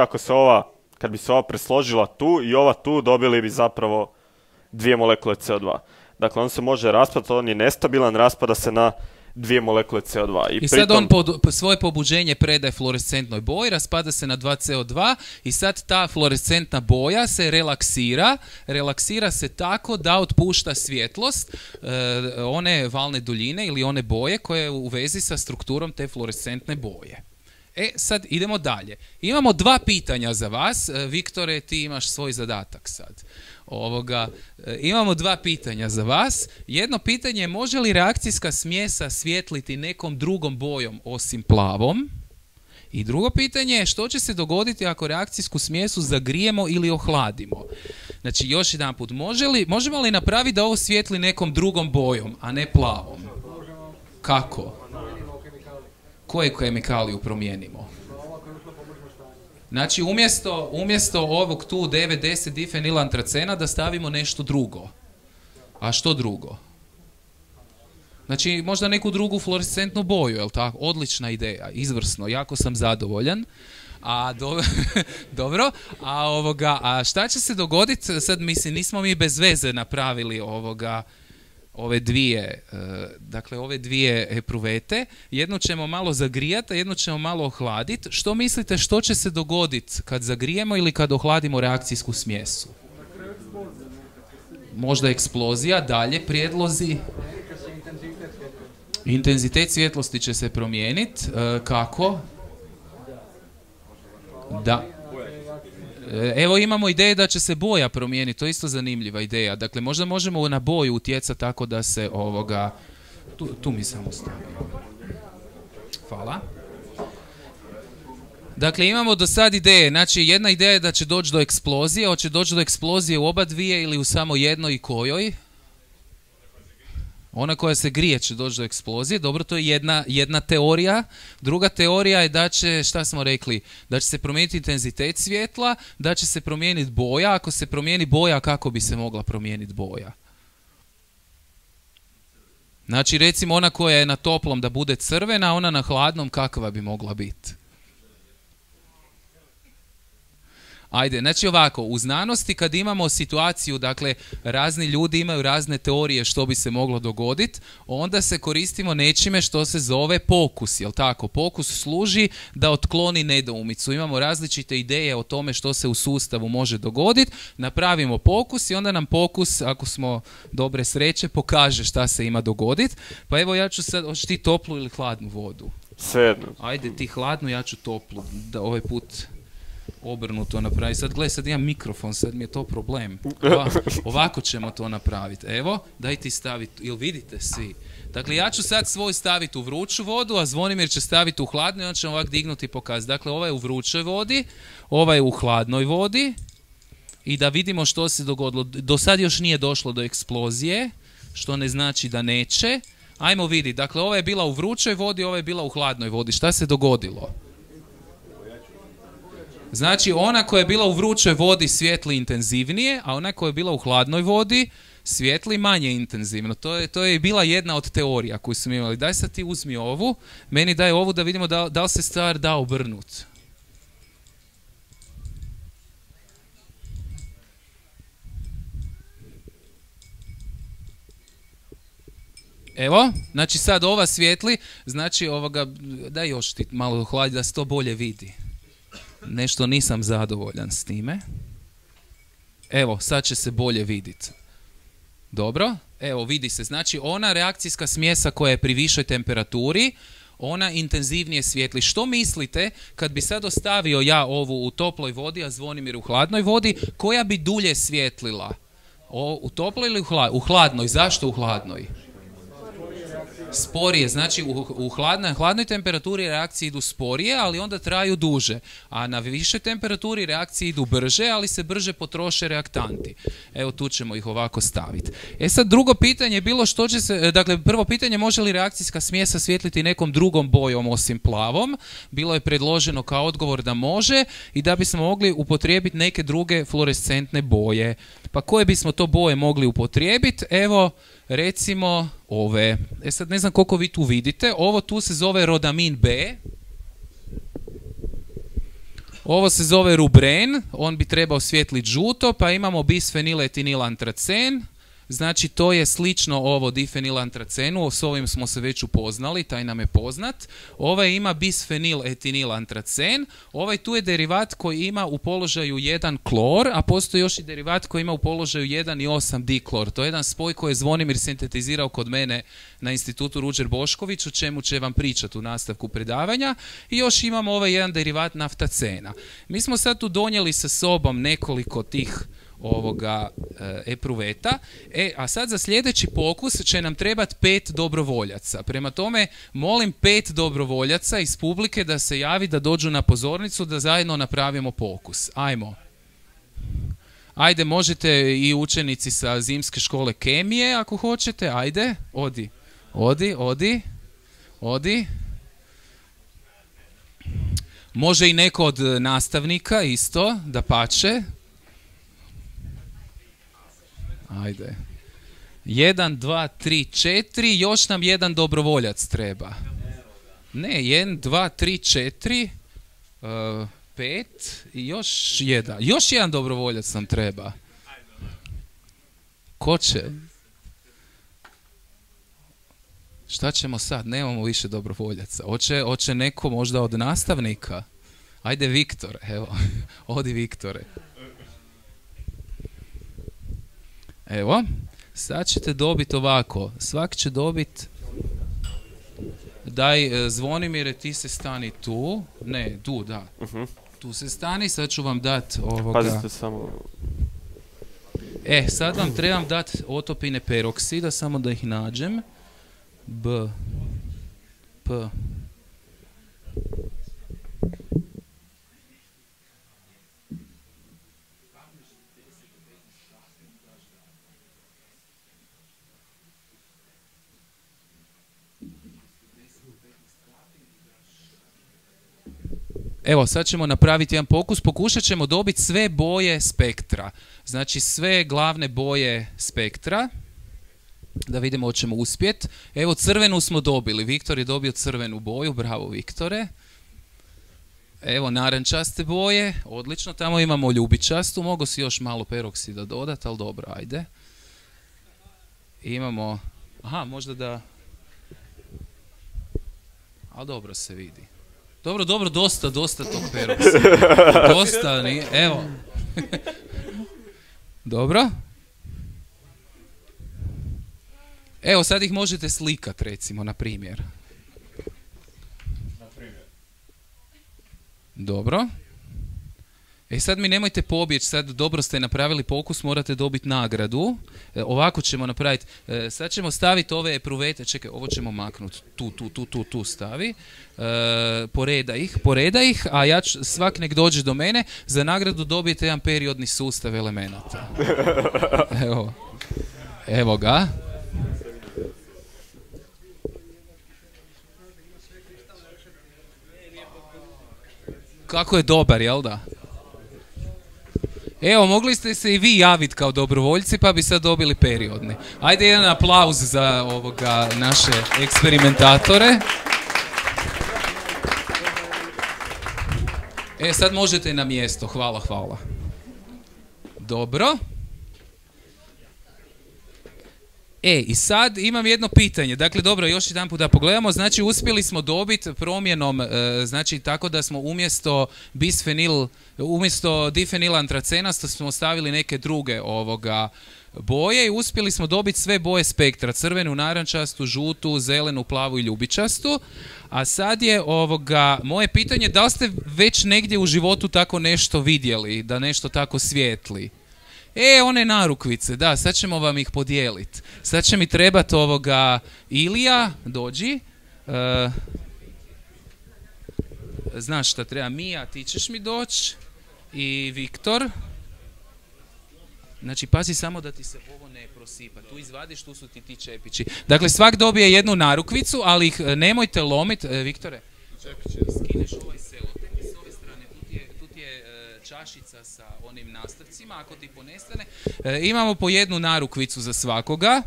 kad bi se ova presložila tu i ova tu, dobili bi zapravo 2 molekule CO2. Dakle, on se može raspadati, on je nestabilan, raspada se na 2 molekule CO2. I sad on svoje pobuđenje predaje fluorescentnoj boji, raspada se na 2 CO2 i sad ta fluorescentna boja se relaksira se tako da otpušta svjetlost, one valne duljine ili one boje koje je u vezi sa strukturom te fluorescentne boje. Sad idemo dalje. Imamo 2 pitanja za vas. Viktore, ti imaš svoj zadatak sad. Imamo 2 pitanja za vas. Jedno pitanje je može li reakcijska smjesa svjetliti nekom drugom bojom osim plavom? I drugo pitanje je što će se dogoditi ako reakcijsku smjesu zagrijemo ili ohladimo? Znači još jedan put, možemo li napraviti da ovo svjetli nekom drugom bojom, a ne plavom? Kako? Koje kemikaliju promijenimo? Znači umjesto ovog tu 9,10 difenilantracena da stavimo nešto drugo. A što drugo? Znači možda neku drugu fluorescentnu boju, jel tako? Odlična ideja, izvrsno, jako sam zadovoljan. Dobro, a šta će se dogoditi? Sad mislim, nismo mi bez veze napravili ove dvije epruvete. Jednu ćemo malo zagrijati, a jednu ćemo malo ohladiti. Što mislite što će se dogoditi kad zagrijemo ili kad ohladimo reakcijsku smjesu? Možda eksplozija, dalje prijedlozi. Intenzitet svjetlosti će se promijeniti. Kako? Da. Evo imamo ideje da će se boja promijeniti, to je isto zanimljiva ideja. Dakle, možda možemo na boju utjecati tako da se Tu mi samo stavimo. Hvala. Dakle, imamo do sad ideje. Znači, jedna ideja je da će doći do eksplozije. Hoće doći do eksplozije u oba dvije ili u samo jednoj i kojoj? Ona koja se grije će doći do eksplozije. Dobro, to je jedna teorija. Druga teorija je da će, šta smo rekli, da će se promijeniti intenzitet svjetla, da će se promijeniti boja. Ako se promijeni boja, kako bi se mogla promijeniti boja? Znači, recimo ona koja je na toplom da bude crvena, a ona na hladnom kakva bi mogla biti? Ajde, znači ovako, u znanosti kad imamo situaciju, dakle, razni ljudi imaju razne teorije što bi se moglo dogoditi, onda se koristimo nečime što se zove pokus, jel tako? Pokus služi da otkloni nedoumicu. Imamo različite ideje o tome što se u sustavu može dogoditi, napravimo pokus i onda nam pokus, ako smo dobre sreće, pokaže šta se ima dogoditi. Pa evo ja ću sad, hoćeš ti toplu ili hladnu vodu? Svejedno. Ajde ti hladnu, ja ću toplu, da ovaj put obrnuto napravi. Sad gledaj, sad imam mikrofon, sad mi je to problem. Ovako ćemo to napraviti. Evo, daj ti staviti, ili vidite svi? Dakle, ja ću sad svoj staviti u vruću vodu, a Zvonimir će staviti u hladnu i on će ovak dignuti i pokazati. Dakle, ovaj je u vrućoj vodi, ovaj je u hladnoj vodi i da vidimo što se dogodilo. Do sad još nije došlo do eksplozije, što ne znači da neće. Ajmo vidjeti, dakle, ova je bila u vrućoj vodi, ova je bila u hladnoj vodi. Šta se dogodilo? Znači, ona koja je bila u vrućoj vodi svijetli intenzivnije, a ona koja je bila u hladnoj vodi svijetli manje intenzivno. To je bila jedna od teorija koju smo imali. Daj sad ti uzmi ovu, meni daj ovu da vidimo da li se stvar da obrnuti. Evo, znači sad ova svijetli, znači ovoga, daj još ti malo hladi da se to bolje vidi. Nešto nisam zadovoljan s time. Evo, sad će se bolje vidjeti. Dobro, evo vidi se, znači ona reakcijska smjesa koja je pri višoj temperaturi, ona intenzivnije svijetli. Što mislite kad bi sad ostavio ja ovu u toploj vodi, a Zvonimir u hladnoj vodi, koja bi dulje svjetlila? U toploj ili u hladnoj? Zašto u hladnoj? Sporije, znači u hladnoj temperaturi reakcije idu sporije, ali onda traju duže, a na višoj temperaturi reakcije idu brže, ali se brže potroše reaktanti. Evo tu ćemo ih ovako staviti. Sad drugo pitanje je bilo što će se, dakle prvo pitanje, može li reakcijska smjesa svjetliti nekom drugom bojom osim plavom? Bilo je predloženo kao odgovor da može i da bismo mogli upotrijebiti neke druge fluorescentne boje. Pa koje bismo to boje mogli upotrijebiti? Evo, recimo ove. Sad ne znam koliko vi tu vidite. Ovo tu se zove rodamin B. Ovo se zove rubren. On bi trebao svjetliti žuto. Pa imamo bisfeniletinilantracen. Znači to je slično ovo difenilantracenu. S ovim smo se već upoznali. Taj nam je poznat. Ovaj ima bisfeniletinilantracen. Ovaj tu je derivat koji ima u položaju 1 klor, a postoji još i derivat koji ima u položaju 1,8 diklor. To je jedan spoj koji je Zvonimir sintetizirao kod mene na institutu Ruđer Bošković, o čemu će vam pričati u nastavku predavanja. I još imamo ovaj jedan derivat naftacena. Mi smo sad tu donijeli sa sobom nekoliko tih ovoga epruveta. A sad za sljedeći pokus će nam trebati 5 dobrovoljaca. Prema tome, molim 5 dobrovoljaca iz publike da se javi, da dođu na pozornicu, da zajedno napravimo pokus. Ajmo. Ajde, možete i učenici sa zimske škole kemije, ako hoćete. Ajde, odi. Može i neko od nastavnika isto, da pače. Ajde. 1, 2, 3, 4. Još nam jedan dobrovoljac treba. Ne, 1, 2, 3, 4, 5 i još jedan. Još jedan dobrovoljac nam treba. Ko će? Šta ćemo sad? Nemamo više dobrovoljaca. Hoće neko možda od nastavnika? Ajde, Viktor. Evo, odi Viktore. Evo, sad ćete dobiti ovako. Svak će dobiti... Daj, Zvonimire, ti se stani tu. Ne, tu, da. Tu se stani, sad ću vam dati ovoga... Pazite samo... sad vam trebam dati otopine peroksida, samo da ih nađem. B. P. Evo, sad ćemo napraviti jedan pokus. Pokušat ćemo dobiti sve boje spektra. Znači, sve glavne boje spektra. Da vidimo hoćemo uspjeti. Evo, crvenu smo dobili. Viktor je dobio crvenu boju. Bravo, Viktore. Evo narančaste boje, odlično, tamo imamo ljubičastu, mogu si još malo peroksida dodati, ali dobro, ajde. Imamo, aha, možda da, ali dobro se vidi. Dobro, dosta tog peroksida. Dosta, evo. Dobro. Evo, sad ih možete slikat, recimo, na primjer. Dobro. Sad mi nemojte pobjeći, sad dobro ste napravili pokus, morate dobiti nagradu. Ovako ćemo napraviti, sad ćemo staviti ove epruvete, čekaj, ovo ćemo maknuti, tu stavi. Poreda ih, a ja ću, svak nek dođe do mene, za nagradu dobijete jedan periodni sustav elemenata. Evo ga. Kako je dobar, jel da? Evo, mogli ste se i vi javiti kao dobrovoljci, pa bi sad dobili periodni. Ajde jedan aplauz za ovoga naše eksperimentatore. Sad možete na mjesto, hvala. Dobro. I sad imam jedno pitanje. Dakle, dobro, još jedan put da pogledamo. Znači, uspjeli smo dobiti promjenom, znači, tako da smo umjesto difenilantracena smo stavili neke druge boje i uspjeli smo dobiti sve boje spektra. Crvenu, narančastu, žutu, zelenu, plavu i ljubičastu. A sad je moje pitanje, da li ste već negdje u životu tako nešto vidjeli, da nešto tako svijetli? One narukvice, da, sad ćemo vam ih podijeliti. Sad će mi trebati Ilija, dođi. Znaš šta treba, Mija, ti ćeš mi doći. I Viktor. Znači, pazi samo da ti se ovo ne prosipa. Tu izvadiš, tu su ti čepići. Dakle, svak dobije jednu narukvicu, ali ih nemojte lomiti. Viktore, skineš ovaj selotep s ove strane. Tu ti je čašica sa onim nastavcima, ako ti ponestane. Imamo po jednu narukvicu za svakoga.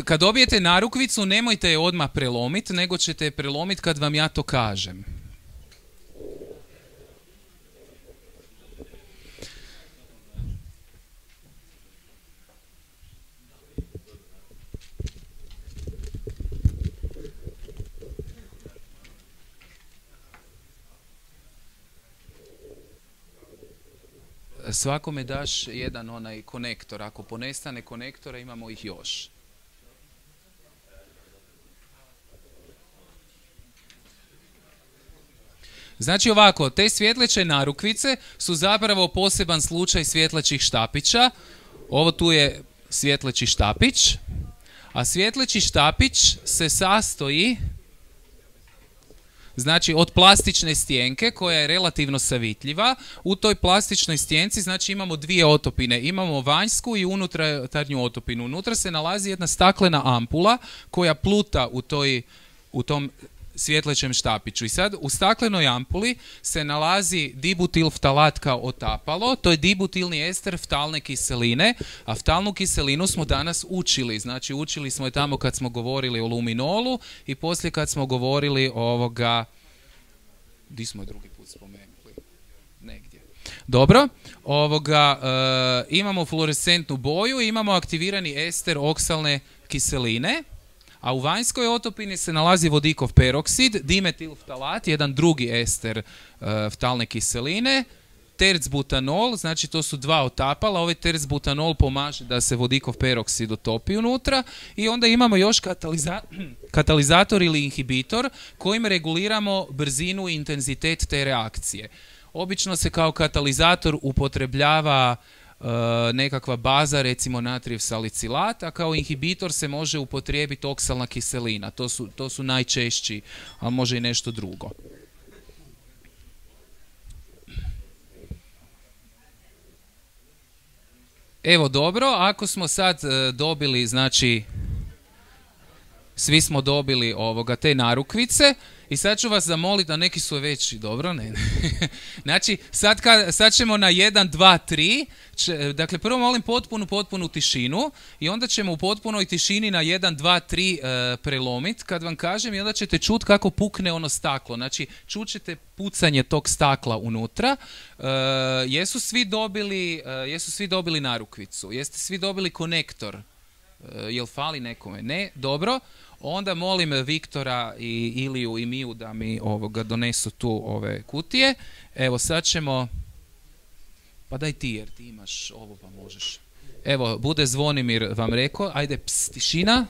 Kad dobijete narukvicu, nemojte je odmah prelomiti, nego ćete je prelomiti kad vam ja to kažem. Svakome daš jedan onaj konektor. Ako ponestane konektora, imamo ih još. Znači ovako, te svjetleće narukvice su zapravo poseban slučaj svjetlećih štapića. Ovo tu je svjetleći štapić. A svjetleći štapić se sastoji, znači, od plastične stjenke koja je relativno savitljiva. U toj plastičnoj stjenci, znači, imamo dvije otopine. Imamo vanjsku i unutarnju otopinu. Unutra se nalazi jedna staklena ampula koja pluta u tom svjetlećem štapiću. I sad u staklenoj ampuli se nalazi dibutilftalat kao otapalo. To je dibutilni ester ftalne kiseline, a ftalnu kiselinu smo danas učili. Znači, učili smo je tamo kad smo govorili o luminolu i poslije kad smo govorili di smo je drugi put spomenuli? Negdje. Dobro. Imamo fluorescentnu boju i imamo aktivirani ester oksalne kiseline. A u vanjskoj otopini se nalazi vodikov peroksid, dimetilftalat, jedan drugi ester ftalne kiseline, tercbutanol, znači to su dva otapala, ovaj tercbutanol pomaže da se vodikov peroksid otopi unutra i onda imamo još katalizator ili inhibitor kojim reguliramo brzinu i intenzitet te reakcije. Obično se kao katalizator upotrebljava nekakva baza, recimo natrijev salicilat, a kao inhibitor se može upotrijebiti oksalna kiselina. To su najčešći, a može i nešto drugo. Evo dobro, ako smo sad dobili, znači, svi smo dobili te narukvice, I sad ću vas zamoliti, a neki su veći, dobro, ne. Znači, sad ćemo na 1, 2, 3, dakle prvo molim potpunu tišinu i onda ćemo u potpunoj tišini na 1, 2, 3 prelomiti kad vam kažem i onda ćete čuti kako pukne ono staklo. Znači, čućete pucanje tog stakla unutra. Jesu svi dobili narukvicu? Jeste svi dobili konektor? Jel fali nekome? Ne? Dobro. Onda molim Viktora i Iliju i Miju da mi donesu tu ove kutije. Evo sad ćemo... Pa daj ti jer ti imaš ovo pa možeš. Evo, bude Zvonimir vam rekao. Ajde, tišina.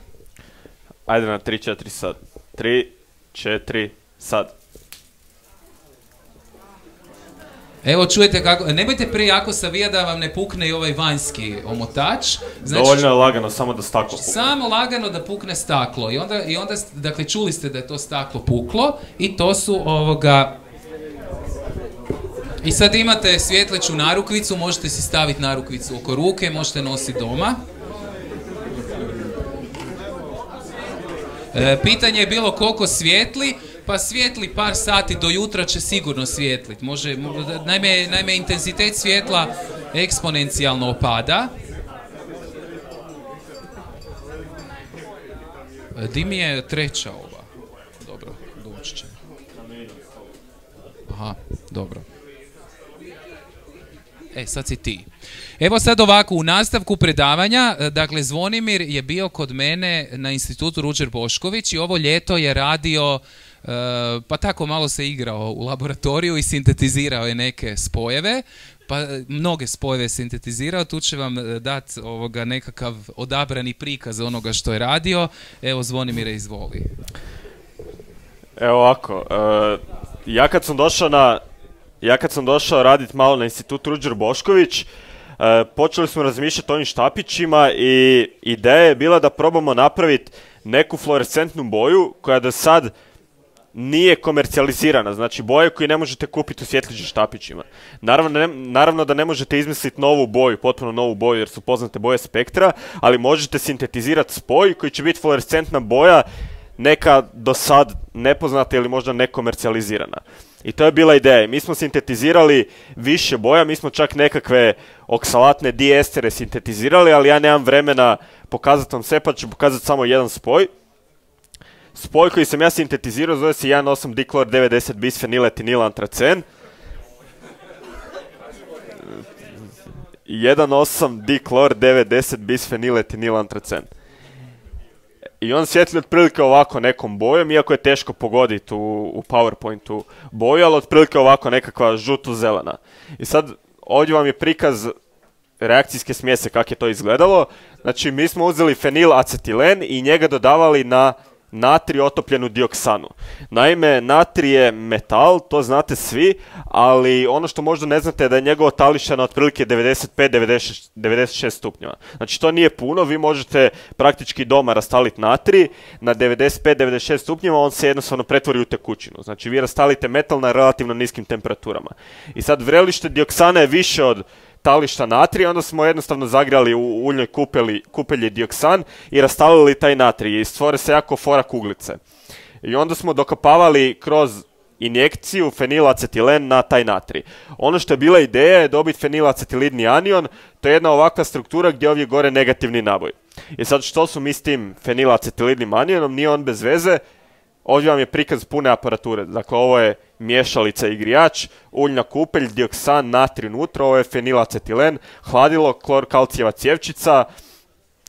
Ajde na 3, 4 sad. 3, 4, sad. Evo čujete kako, nemojte prejako savijati da vam ne pukne i ovaj vanjski omotač. Znači, dovoljno je lagano samo da staklo pukne. Samo lagano da pukne staklo i onda dakle čuli ste da je to staklo puklo i to su I sad imate svjetleću narukvicu, možete si staviti narukvicu oko ruke, možete nositi doma. Pitanje je bilo koliko svijetli. Pa svijetli par sati do jutra će sigurno svijetliti. Naime, intenzitet svjetla eksponencijalno opada. Di mi je treća ova? Dobro, doći će. Aha, dobro. Sad si ti. Evo sad ovako, u nastavku predavanja, dakle Zvonimir je bio kod mene na institutu Ruđer Bošković i ovo ljeto je radio, pa tako malo se igrao u laboratoriju i sintetizirao je neke spojeve, pa mnoge spojeve sintetizirao, tu će vam dati nekakav odabrani prikaz onoga što je radio. Evo Zvonimire, izvoli. Evo ovako, ja kad sam došao raditi malo na institutu Ruđer Bošković, počeli smo razmišljati o ovim štapićima i ideja je bila da probamo napraviti neku fluorescentnu boju koja do sad nije komercijalizirana, znači boje koje ne možete kupiti u svjetlećim štapićima. Naravno da ne možete izmisliti novu boju, potpuno novu boju jer su poznate boje spektra, ali možete sintetizirati spoj koji će biti fluorescentna boja, neka do sad nepoznata ili možda nekomercijalizirana. I to je bila ideja. Mi smo sintetizirali više boja, mi smo čak nekakve oksalatne diestere sintetizirali, ali ja nemam vremena pokazati vam sve, pa ću pokazati samo jedan spoj. Spoj koji sam ja sintetizirao zove se 1,8-diklor-90 bisfeniletilantracen. 1,8-diklor-90 bisfeniletilantracen. I on svjetli otprilike ovako nekom bojom, iako je teško pogoditi u PowerPointu boju, ali otprilike ovako nekakva žuto-zelena. I sad ovdje vam je prikaz reakcijske smjese kako je to izgledalo. Znači mi smo uzeli fenilacetilen i njega dodavali na natrij otopljenu dioksanu. Naime, natrij je metal, to znate svi, ali ono što možda ne znate je da je njegovo talište na otprilike 95-96 stupnjeva. Znači to nije puno, vi možete praktički doma rastaliti natrij na 95-96 stupnjeva, on se jednostavno pretvori u tekućinu. Znači vi rastalite metal na relativno niskim temperaturama. I sad vrelište dioksana je više od tališta natrija, onda smo jednostavno zagrijali u uljnoj kupelji dioksan i rastalili taj natrij i stvore se jako fora kuglice. I onda smo dokopavali kroz injekciju fenilacetilen na taj natrij. Ono što je bila ideja je dobiti fenilacetilidni anion, to je jedna ovakva struktura gdje ovdje gore negativni naboj. I sad što su mi s tim fenilacetilidnim anionom, nije on bez veze, ovdje vam je prikaz pune aparature. Dakle, ovo je miješalica i grijač, uljna kupelj, dioksan, natrij unutra, ovo je fenilacetilen, hladilo, klor-kalcijeva cjevčica.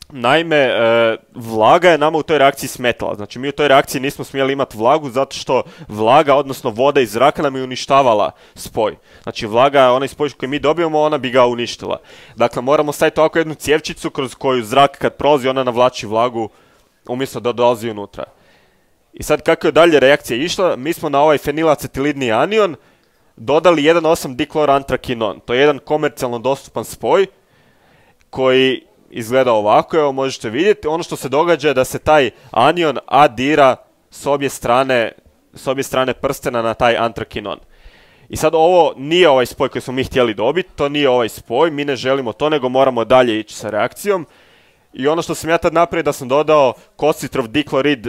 Naime, vlaga je nama u toj reakciji smetala. Znači, mi u toj reakciji nismo smjeli imati vlagu zato što vlaga, odnosno voda iz zraka nam je uništavala spoj. Znači, vlaga, onaj spoj koji mi dobijemo, ona bi ga uništila. Dakle, moramo staviti ovako jednu cjevčicu kroz koju zrak kad prolazi, ona navlači vlagu umjesto da dolazi unutra. I sad kako je dalje reakcija išla, mi smo na ovaj fenilacetilidni anion dodali 1,8-diklor-antrakinon. To je jedan komercijalno dostupan spoj koji izgleda ovako, evo možete vidjeti. Ono što se događa je da se taj anion adira s obje strane prstena na taj antrakinon. I sad ovo nije ovaj spoj koji smo mi htjeli dobiti, to nije ovaj spoj, mi ne želimo to, nego moramo dalje ići sa reakcijom. I ono što sam ja tad napravio da sam dodao kositrov diklorid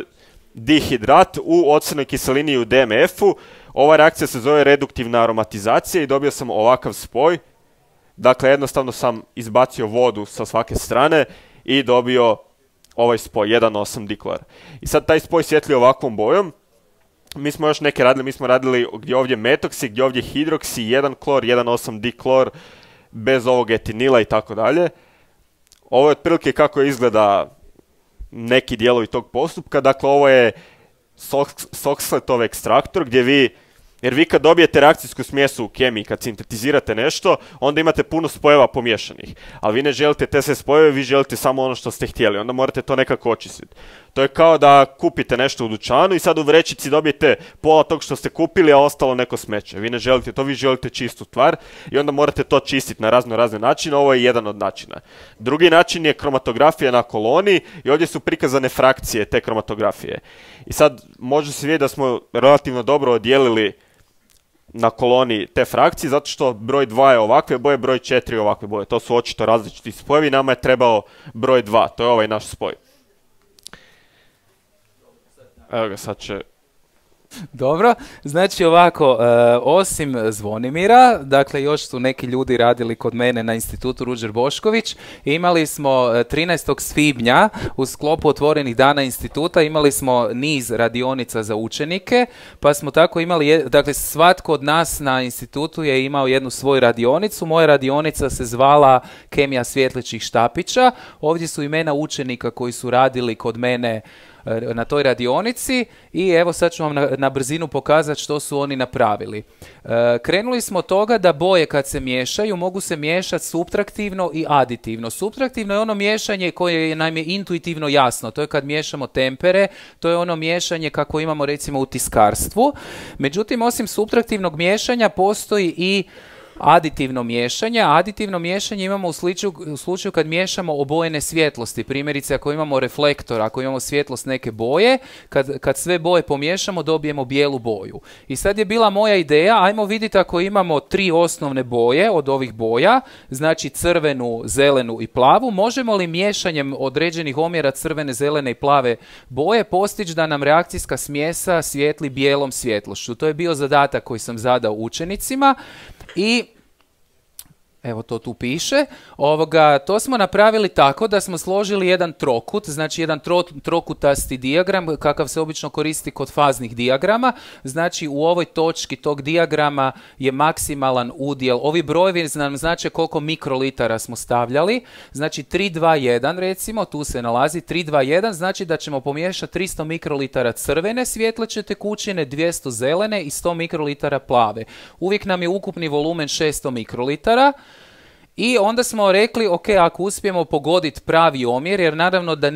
dihidrat u ocrnoj kiselini i u DMF-u. Ova reakcija se zove reduktivna aromatizacija i dobio sam ovakav spoj. Dakle, jednostavno sam izbacio vodu sa svake strane i dobio ovaj spoj, 1,8-diklor. I sad taj spoj svjetli ovakvom bojom. Mi smo još neke radili, mi smo radili gdje ovdje metoksi, gdje ovdje hidroksi, 1 klor, 1,8-diklor, bez ovog etinila i tako dalje. Ovo je otprilike kako izgleda neki dijelovi tog postupka. Dakle, ovo je Soxhletov ekstraktor gdje jer vi kad dobijete reakcijsku smjes u kemiji, kad sintetizirate nešto, onda imate puno spojeva pomješanih. Ali vi ne želite te sve spojeve, vi želite samo ono što ste htjeli. Onda morate to nekako očistiti. To je kao da kupite nešto u dućanu i sad u vrećici dobijete pola tog što ste kupili, a ostalo neko smeće. Vi ne želite to, vi želite čistu stvar i onda morate to čistiti na razne načine. Ovo je jedan od načina. Drugi način je kromatografija na koloni i ovdje su prikazane frakcije te kromatografije. I sad može se vidjeti da smo relativno dobro odijelili na koloni te frakcije, zato što broj 2 je ovakve boje, broj 4 je ovakve boje. To su očito različiti spojevi, nama je trebao broj 2, to je ovaj naš spoj. Evo ga, sad će... Dobro, znači ovako, osim Zvonimira, dakle još su neki ljudi radili kod mene na institutu Ruđer Bošković, imali smo 13. svibnja u sklopu otvorenih dana instituta, imali smo niz radionica za učenike, pa smo tako imali, dakle svatko od nas na institutu je imao jednu svoju radionicu, moja radionica se zvala Kemija svjetlećih štapića, ovdje su imena učenika koji su radili kod mene na toj radionici i evo sad ću vam na brzinu pokazati što su oni napravili. Krenuli smo od toga da boje kad se miješaju mogu se miješati suptraktivno i aditivno. Suptraktivno je ono miješanje koje nam je intuitivno jasno, to je kad miješamo tempere, to je ono miješanje kako imamo recimo u tiskarstvu. Međutim, osim suptraktivnog miješanja postoji i aditivno miješanje. Aditivno miješanje imamo u slučaju kad miješamo obojene svjetlosti. Primjerice, ako imamo reflektor, ako imamo svjetlost neke boje, kad sve boje pomiješamo, dobijemo bijelu boju. I sad je bila moja ideja, ajmo vidjeti ako imamo 3 osnovne boje od ovih boja, znači crvenu, zelenu i plavu, možemo li miješanjem određenih omjera crvene, zelene i plave boje postići da nam reakcijska smjesa svijetli bijelom svjetlošću. To je bio zadatak koji sam zadao učenicima. I evo to tu piše, to smo napravili tako da smo složili jedan trokut, znači jedan trokutasti dijagram kakav se obično koristi kod faznih dijagrama, znači u ovoj točki tog dijagrama je maksimalan udjel, ovi brojevi nam znači koliko mikrolitara smo stavljali, znači 3,2,1 recimo, tu se nalazi 3,2,1, znači da ćemo pomiješati 300 mikrolitara crvene svjetleće tekućine, 200 zelene i 100 mikrolitara plave. Uvijek nam je ukupni volumen 600 mikrolitara. I onda smo rekli, ok, ako uspijemo pogoditi pravi omjer, jer naravno da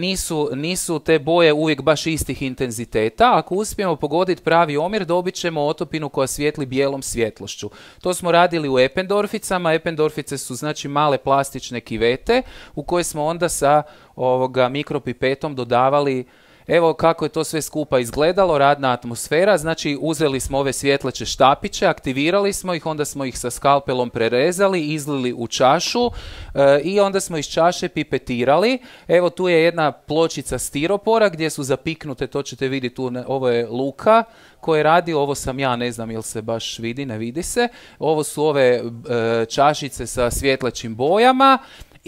nisu te boje uvijek baš istih intenziteta, ako uspijemo pogoditi pravi omjer, dobit ćemo otopinu koja svijetli bijelom svjetlošću. To smo radili u Eppendorficama, Eppendorfice su znači male plastične kivete u koje smo onda sa mikropipetom dodavali. Evo kako je to sve skupa izgledalo, radna atmosfera, znači uzeli smo ove svjetleće štapiće, aktivirali smo ih, onda smo ih sa skalpelom prerezali, izlili u čašu i onda smo iz čaše pipetirali. Evo tu je jedna pločica stiropora gdje su zapiknute, to ćete vidjeti tu, ovo je Luka koji radi, ovo sam ja, ne znam jel se baš vidi, ne vidi se. Ovo su ove čašice sa svjetlećim bojama.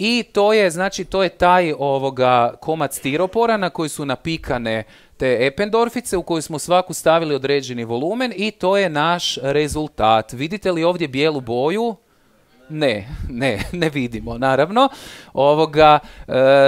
I to je, znači, to je taj komad stiropora na koji su napikane te Eppendorfice u koju smo svaku stavili određeni volumen i to je naš rezultat. Vidite li ovdje bijelu boju? Ne vidimo, naravno.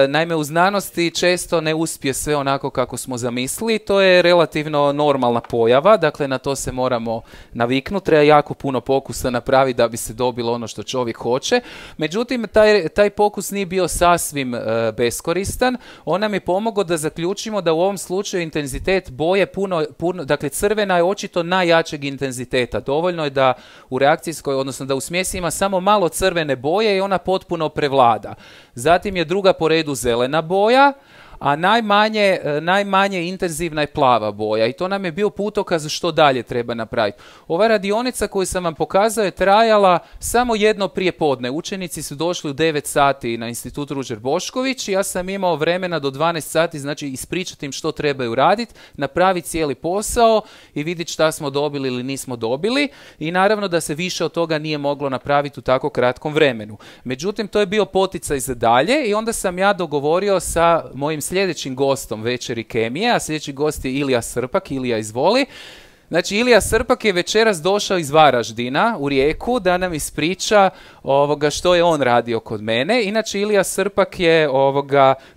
Naime, u znanosti često ne uspije sve onako kako smo zamislili. To je relativno normalna pojava, dakle na to se moramo naviknuti. Treba jako puno pokusa napraviti da bi se dobilo ono što čovjek hoće. Međutim, taj pokus nije bio sasvim beskoristan. On nam je pomogao da zaključimo da u ovom slučaju intenzitet boje puno, dakle crvena je očito najjačeg intenziteta. Dovoljno je da u reakcijskoj, odnosno da u smjesi ima samo malo crvene boje i ona potpuno prevlada. Zatim je druga po redu zelena boja, a najmanje intenzivna je plava boja i to nam je bio putokaz što dalje treba napraviti. Ova radionica koju sam vam pokazao je trajala samo jedno prijepodne. Učenici su došli u 9 sati na institut Ruđer Bošković i ja sam imao vremena do 12 sati, znači ispričati im što trebaju raditi, napraviti cijeli posao i vidjeti šta smo dobili ili nismo dobili i naravno da se više od toga nije moglo napraviti u tako kratkom vremenu. Međutim, to je bio poticaj za dalje i onda sam ja dogovorio sa mojim sljedećim gostom večeri kemije, a sljedeći gost je Ilija Srpak. Ilija, izvoli. Znači, Ilija Srpak je večeras došao iz Varaždina u Rijeku da nam ispriča što je on radio kod mene. Inače, Ilija Srpak je,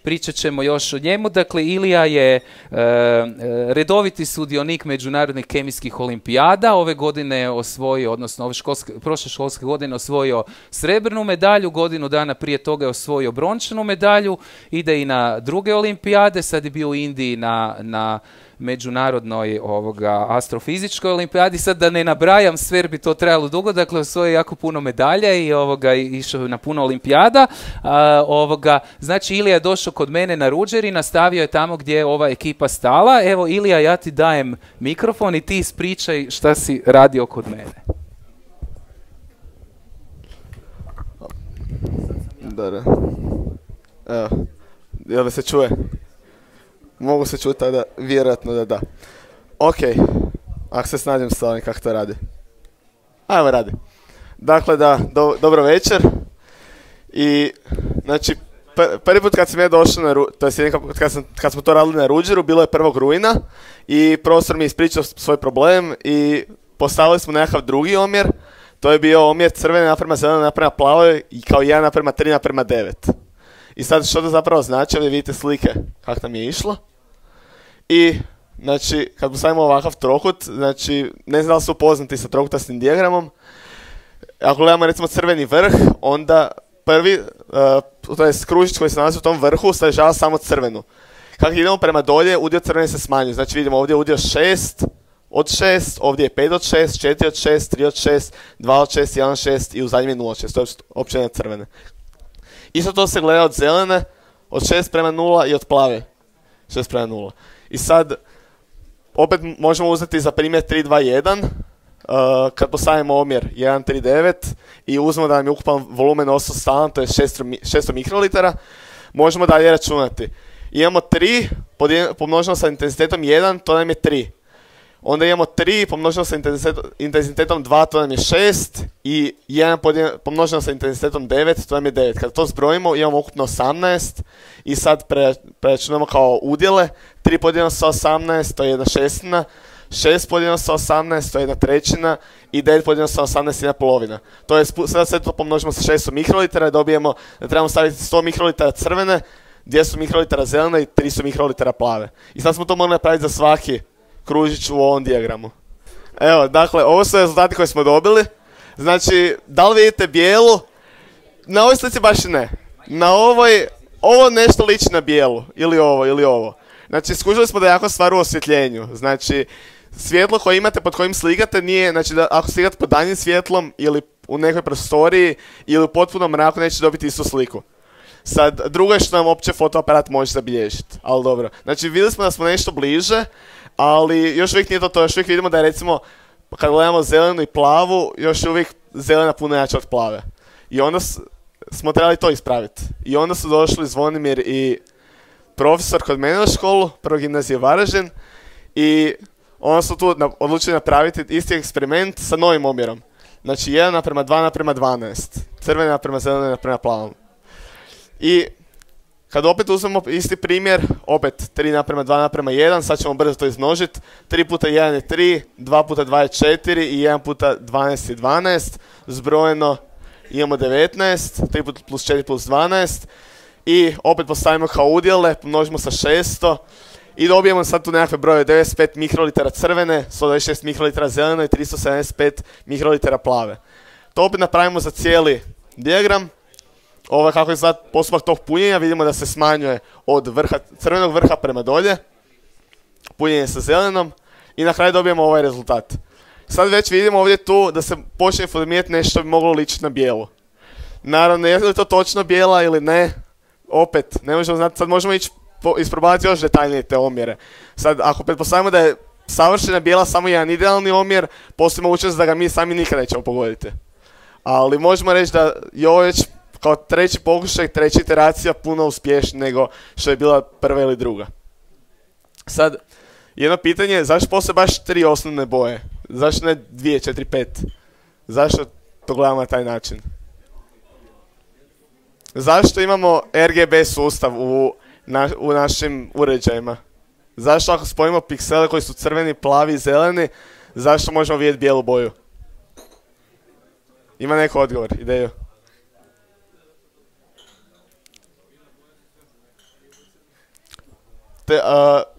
pričat ćemo još o njemu, dakle, Ilija je redoviti sudionik međunarodnih kemijskih olimpijada. Ove godine je osvojio, odnosno prošle školske godine osvojio srebrnu medalju, godinu dana prije toga je osvojio brončanu medalju, ide i na druge olimpijade, sad je bio u Indiji na međunarodnoj astrofizičkoj olimpijadi, sad da ne nabrajam sve jer bi to trajalo dugo, dakle osvojio jako puno medalja i išao na puno olimpijada. Znači Ilija je došao kod mene na Ruđer i nastavio je tamo gdje je ova ekipa stala. Evo Ilija, ja ti dajem mikrofon i ti ispričaj šta si radio kod mene. Da. Evo, jel me se čuje? Mogu se čuti tada, vjerojatno da. Ok, ako se snađem s ovim kako to radi. Ajmo radi. Dakle da, dobro večer. I, znači, prvi put kad sam ja došao to je kad smo to radili na Ruđeru, bilo je 1. rujna i profesor mi je ispričao svoj problem i postavili smo nekakav drugi omjer. To je bio omjer crvene naprema zelene naprema plave i kao 1:3:9. I sad što to zapravo znači, ovdje vidite slike kako nam je išlo. I, znači, kad postavimo ovakav trokut, znači, ne znam da li su upoznati sa trokutastim dijagramom. Ako gledamo recimo crveni vrh, onda prvi, to je kružić koji se nalazi u tom vrhu, sadržava samo crvenu. Kako idemo prema dolje, udio crvene se smanjuje. Znači vidimo ovdje udio 6 od 6, ovdje je 5 od 6, 4 od 6, 3 od 6, 2 od 6, 1 od 6 i u zadnjem je 0 od 6. To je općenje crvene. Isto to se gleda od zelene, od 6:0 i od plave 6:0. I sad, opet možemo uzeti za primjer 3:2:1, kad postavimo omjer 1:3:9 i uzmemo da nam je ukupan volumen ostao stalan, to je 600 mikrolitara, možemo dalje računati. Imamo 3 pomnoženo sa intenzitetom 1, to nam je 3. Onda imamo 3 pomnoženo sa intenzitetom 2, to nam je 6. I 1 pomnoženo sa intenzitetom 9, to nam je 9. Kad to zbrojimo, imamo ukupno 18. I sad preračunamo kao udjele. 3 podijeljeno sa 18, to je 1/6. 6 podijeljeno sa 18, to je 1/3. I 9 podijeljeno sa 18 je 1/2. To je, sada sve to pomnožimo sa 600 mikrolitara i dobijemo da trebamo staviti 100 mikrolitara crvene, 200 mikrolitara zelene i 300 mikrolitara plave. I sad smo to mogli napraviti za svaki kružić u ovom dijagramu. Evo, dakle, ovo su rezultati koje smo dobili. Znači, da li vidite bijelu? Na ovoj slici baš i ne. Na ovoj, ovo nešto liči na bijelu. Ili ovo. Znači, skužili smo da je jako stvar u osvjetljenju. Znači, svjetlo koje imate pod kojim slikate nije, znači, da ako slikate pod danjim svjetlom ili u nekoj prostoriji ili u potpunom mraku neće dobiti istu sliku. Sad, drugo je što nam opće fotoaparat može zabilježiti. Ali dobro. Znači, vidjeli smo da smo nešto bliže, ali još uvijek nije to, još uvijek vidimo da je recimo, kad gledamo zelenu i plavu, još uvijek zelena puno jača od plave. I onda smo trebali to ispraviti. I onda su došli Zvonimir i profesor kod mene na školu, prvo gimnazije Varaždin, i onda su tu odlučili napraviti isti eksperiment sa novim omjerom. Znači 1:2:12, crvene naprema zelene naprema plavom. I kad opet uzmemo isti primjer, opet 3:2:1, sad ćemo brzo to izmnožiti. 3 puta 1 je 3, 2 puta 2 je 4 i 1 puta 12 je 12. Zbrojeno imamo 19, 3 puta plus 4 plus 12. I opet postavimo kao udjele, pomnožimo sa 600. I dobijemo sad tu nekakve broje, 95 mikrolitara crvene, 126 mikrolitara zelene i 375 mikrolitara plave. To opet napravimo za cijeli dijagram. Ovo kako je sad postupak tog punjenja, vidimo da se smanjuje od crvenog vrha prema dolje, punjenje sa zelenom i na kraju dobijemo ovaj rezultat. Sad već vidimo ovdje tu da se počne formirati nešto bi moglo ličiti na bijelu. Naravno, je li to točno bijela ili ne, opet, ne možemo znati, sad možemo ići isprobavati još detaljnije te omjere. Sad, ako pretpostavimo da je savršena bijela samo jedan idealni omjer, postoji mogućnost da ga mi sami nikad nećemo pogoditi. Ali možemo reći da je ovo već kao treći pokušaj, treća iteracija puno uspješnija nego što je bila prva ili druga. Sad, jedno pitanje je zašto postoje baš 3 osnovne boje? Zašto ne 2, 4, 5? Zašto to gledamo na taj način? Zašto imamo RGB sustav u našim uređajima? Zašto ako spojimo piksele koji su crveni, plavi i zeleni, zašto možemo vidjeti bijelu boju? Ima neko odgovor, ideju?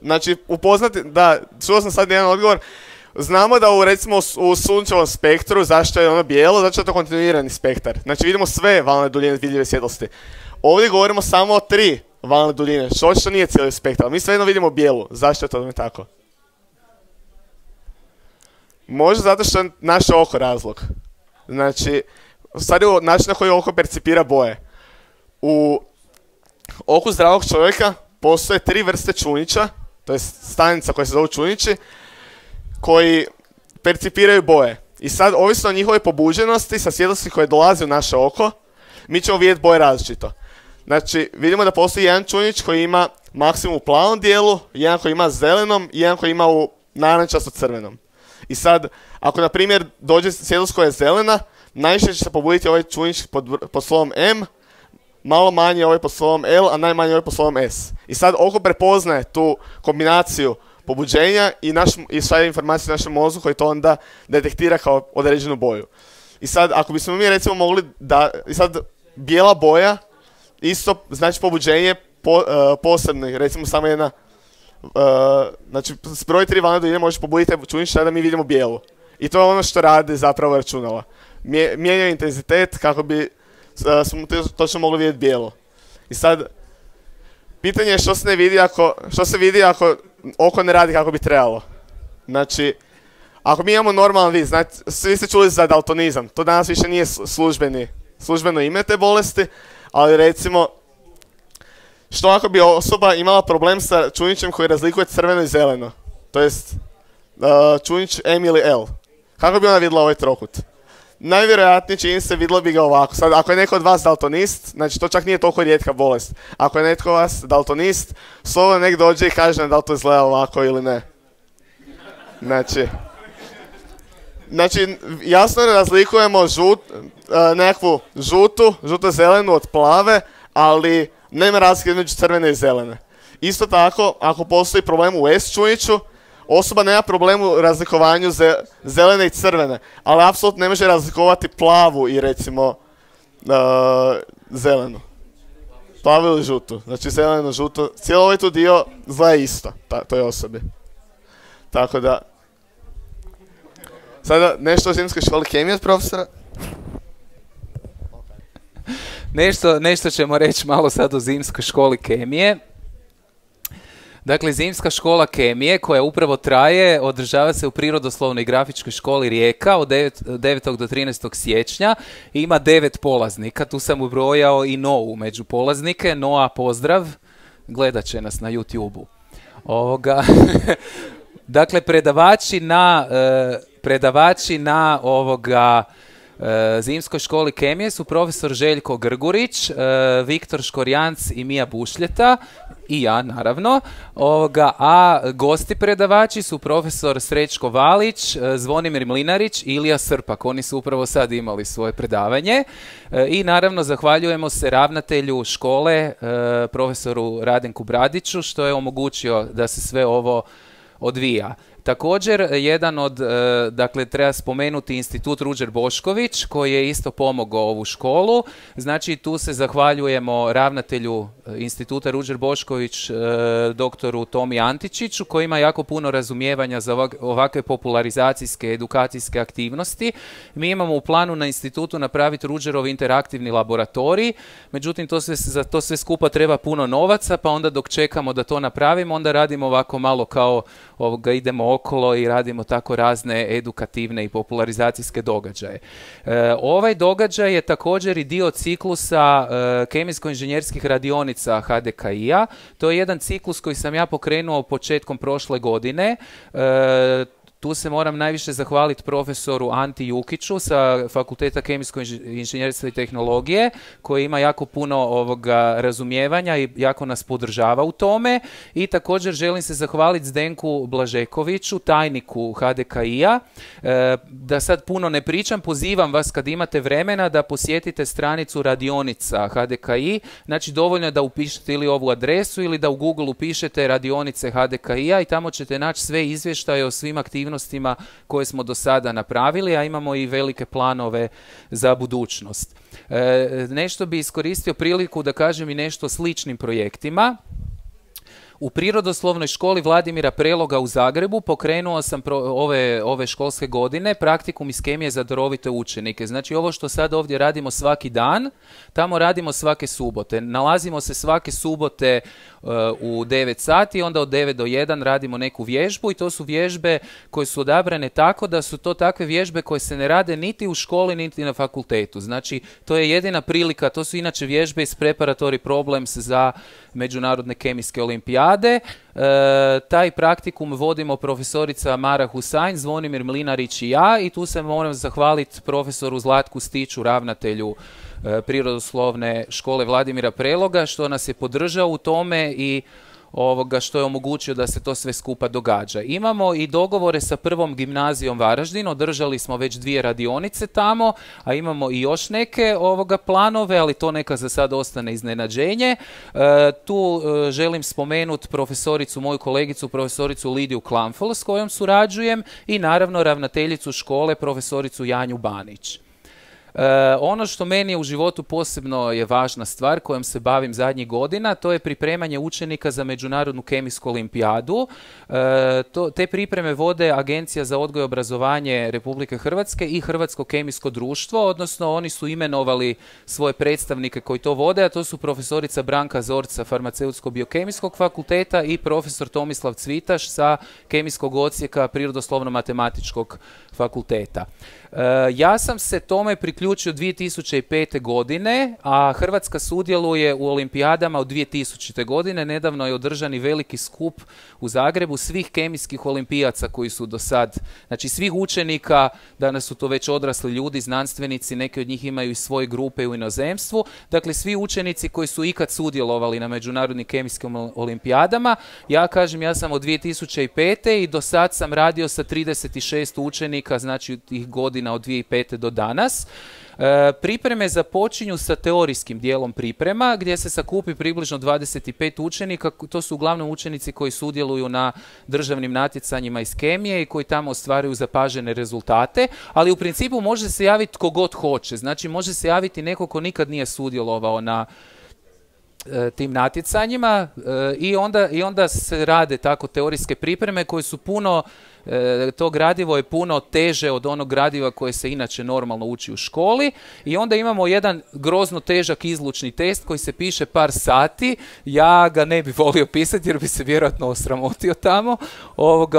Znači, upoznati, da, čuo sam sad jedan odgovor. Znamo da recimo u sunčevom spektru, zašto je ono bijelo, zato što je to kontinuirani spektar. Znači vidimo sve valne duljine vidljive svjetlosti. Ovdje govorimo samo o 3 valne duljine, što očito nije cijeli spektar, ali mi svejedno vidimo bijelu. Zašto je to tako? Možda zato što je naše oko razlog. Znači, sad je način na koji oko percipira boje. U oku zdravog čovjeka postoje 3 vrste čunića, to je stanica koja se zove čunići, koji percipiraju boje. I sad, ovisno o njihovoj pobuđenosti, sa svjetlosti koje dolaze u naše oko, mi ćemo vidjeti boje različito. Znači, vidimo da postoji jedan čunić koji ima maksimum u plavom dijelu, jedan koji ima zelenom i jedan koji ima u narančasto crvenom. I sad, ako na primjer dođe svjetlost koja je zelena, najviše će se pobuditi ovaj čunić pod slovom M, malo manje ovaj pod slovom L, a najmanje ovaj pod slovom S. I sad oko prepoznaje tu kombinaciju pobuđenja i šalje informaciju našem mozgu koji to onda detektira kao određenu boju. I sad, ako bismo mi recimo mogli da... I sad, bijela boja isto znači pobuđenje posebno, recimo samo jedna... znači, s broj 3 valne duljine možeš pobuditi čunić da mi vidimo bijelu. I to je ono što rade zapravo računala. Mijenjaju intenzitet kako bi smo točno mogli vidjeti bijelo. I sad, pitanje je što se vidi ako oko ne radi kako bi trebalo. Znači, ako mi imamo normalan vid, znači, svi ste čuli za daltonizam, to danas više nije službeno ime te bolesti, ali recimo, što ako bi osoba imala problem sa čunićem koji razlikuje crveno i zeleno, to jest čunić M ili L, kako bi ona vidjela ovaj trokut? Najvjerojatnije čini se vidjelo bi ga ovako. Sad, ako je neko od vas daltonist, znači to čak nije toliko rijetka bolest. Ako je netko od vas daltonist, slobodno nek dođe i kaže da li to izgleda ovako ili ne. Znači jasno razlikujemo nekakvu žuto-zelenu od plave, ali nema razlike između crvene i zelene. Isto tako, ako postoji problem u S čuniću, osoba nema problem u razlikovanju zelene i crvene, ali apsolutno ne može razlikovati plavu i recimo zelenu. Plavu ili žutu. Znači zeleno, žuto. Cijelo ovaj tu dio zla je isto toj osobi. Tako da... Sada nešto o zimskoj školi kemije od profesora. Nešto ćemo reći malo sad o zimskoj školi kemije. Dakle, zimska škola kemije koja upravo traje, održava se u Prirodoslovnoj i grafičkoj školi Rijeka od 9. do 13. siječnja. Ima 9 polaznika, tu sam ubrojao i Nou među polaznike. Noa, pozdrav, gledat će nas na YouTube-u. Dakle, predavači na zimskoj školi kemije su profesor Željko Grgurić, Viktor Škorjanc i Mija Bušljeta i ja naravno, a gosti predavači su profesor Srećko Valić, Zvonimir Mlinarić i Ilija Srpak. Oni su upravo sad imali svoje predavanje i naravno zahvaljujemo se ravnatelju škole, profesoru Radenku Bradiću, što je omogućio da se sve ovo odvija. Također, jedan od, dakle, treba spomenuti Institut Ruđer Bošković, koji je isto pomogao ovu školu. Znači, tu se zahvaljujemo ravnatelju Instituta Ruđer Bošković, doktoru Tomi Antičiću, koji ima jako puno razumijevanja za ovakve popularizacijske, edukacijske aktivnosti. Mi imamo u planu na institutu napraviti Ruđerov interaktivni laboratorij, međutim, za to sve skupa treba puno novaca, pa onda dok čekamo da to napravimo, onda radimo ovako malo kao idemo okolo i radimo tako razne edukativne i popularizacijske događaje. Ovaj događaj je također i dio ciklusa kemijsko-inženjerskih radionica HDKI-a. To je jedan ciklus koji sam ja pokrenuo početkom prošle godine. Tu se moram najviše zahvaliti profesoru Anti Jukiću sa Fakulteta kemijskog inženjerstva i tehnologije, koji ima jako puno razumijevanja i jako nas podržava u tome. I također želim se zahvaliti Zdenku Blažekoviću, tajniku HDKI-a. Da sad puno ne pričam, pozivam vas kad imate vremena da posjetite stranicu radionica HDKI. Znači dovoljno je da upišete ili ovu adresu ili da u Google upišete radionice HDKI-a i tamo ćete naći sve izvještaje o svim aktivnostima koje smo do sada napravili, a imamo i velike planove za budućnost. Nešto bi iskoristio priliku da kažem i nešto o sličnim projektima. U Prirodoslovnoj školi Vladimira Preloga u Zagrebu pokrenuo sam ove školske godine praktikum iz kemije za darovite učenike. Znači ovo što sad ovdje radimo svaki dan, tamo radimo svake subote. Nalazimo se svake subote u 9 sati, onda od 9 do 1 radimo neku vježbu i to su vježbe koje su odabrane tako da su to takve vježbe koje se ne rade niti u školi niti na fakultetu. Znači to je jedina prilika, to su inače vježbe iz Preparatory Problems za međunarodne kemijske olimpijade. Taj praktikum vodimo profesorica Mara Husajn, Zvonimir Mlinarić i ja i tu se moram zahvaliti profesoru Zlatku Stiću, ravnatelju Prirodoslovne škole Vladimira Preloga, što nas je podržao u tome i što je omogućio da se to sve skupa događa. Imamo i dogovore sa Prvom gimnazijom Varaždin, održali smo već 2 radionice tamo, a imamo i još neke planove, ali to neka za sad ostane iznenađenje. Tu želim spomenuti moju kolegicu, profesoricu Lidiju Klamfl, s kojom surađujem, i naravno ravnateljicu škole, profesoricu Janju Banić. Ono što meni u životu posebno je važna stvar kojom se bavim zadnjih godina, to je pripremanje učenika za Međunarodnu kemijsku olimpijadu. Te pripreme vode Agencija za odgoj i obrazovanje Republike Hrvatske i Hrvatsko kemijsko društvo, odnosno oni su imenovali svoje predstavnike koji to vode, a to su profesorica Branka Zorca Farmaceutsko-biokemijskog fakulteta i profesor Tomislav Cvitaš sa Kemijskog odsjeka Prirodoslovno-matematičkog fakulteta. Ja sam se tome priključio 2005. godine, a Hrvatska sudjeluje u olimpijadama od 2000. godine. Nedavno je održan i veliki skup u Zagrebu svih kemijskih olimpijaca koji su do sad, znači svih učenika, danas su to već odrasli ljudi, znanstvenici, neki od njih imaju i svoje grupe u inozemstvu, dakle svi učenici koji su ikad sudjelovali na međunarodnim kemijskim olimpijadama. Ja kažem, ja sam od 2005. i do sad sam radio sa 36 učenika, znači tih godina od 2005. do danas. Pripreme započinju sa teorijskim dijelom priprema, gdje se sakupi približno 25 učenika. To su uglavnom učenici koji sudjeluju na državnim natjecanjima iz kemije i koji tamo ostvaruju zapažene rezultate, ali u principu može se javiti tko god hoće. Znači može se javiti neko ko nikad nije sudjelovao na tim natjecanjima i onda se rade tako teorijske pripreme koje su puno, to gradivo je puno teže od onog gradiva koje se inače normalno uči u školi, i onda imamo jedan grozno težak izlučni test koji se piše par sati. Ja ga ne bi volio pisati jer bi se vjerojatno osramotio tamo.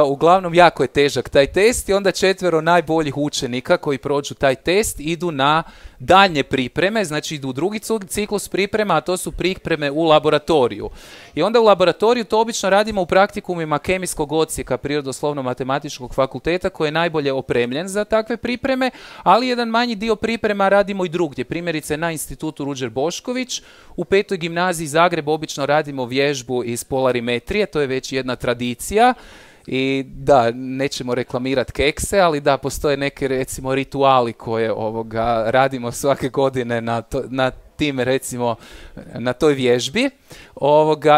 Uglavnom jako je težak taj test i onda 4 najboljih učenika koji prođu taj test idu na daljnje pripreme, znači idu u drugi ciklus priprema, a to su pripreme u laboratoriju. I onda u laboratoriju to obično radimo u praktikumima Kemijskog odsjeka Prirodoslovno-matematičkog fakulteta koji je najbolje opremljen za takve pripreme, ali jedan manji dio priprema radimo i drugdje. Primjerice na institutu Ruđer Bošković, u 5. gimnaziji Zagreb obično radimo vježbu iz polarimetrije, to je već jedna tradicija. I da, nećemo reklamirati kekse, ali da, postoje neke recimo rituali koje radimo svake godine na tim, recimo, na toj vježbi.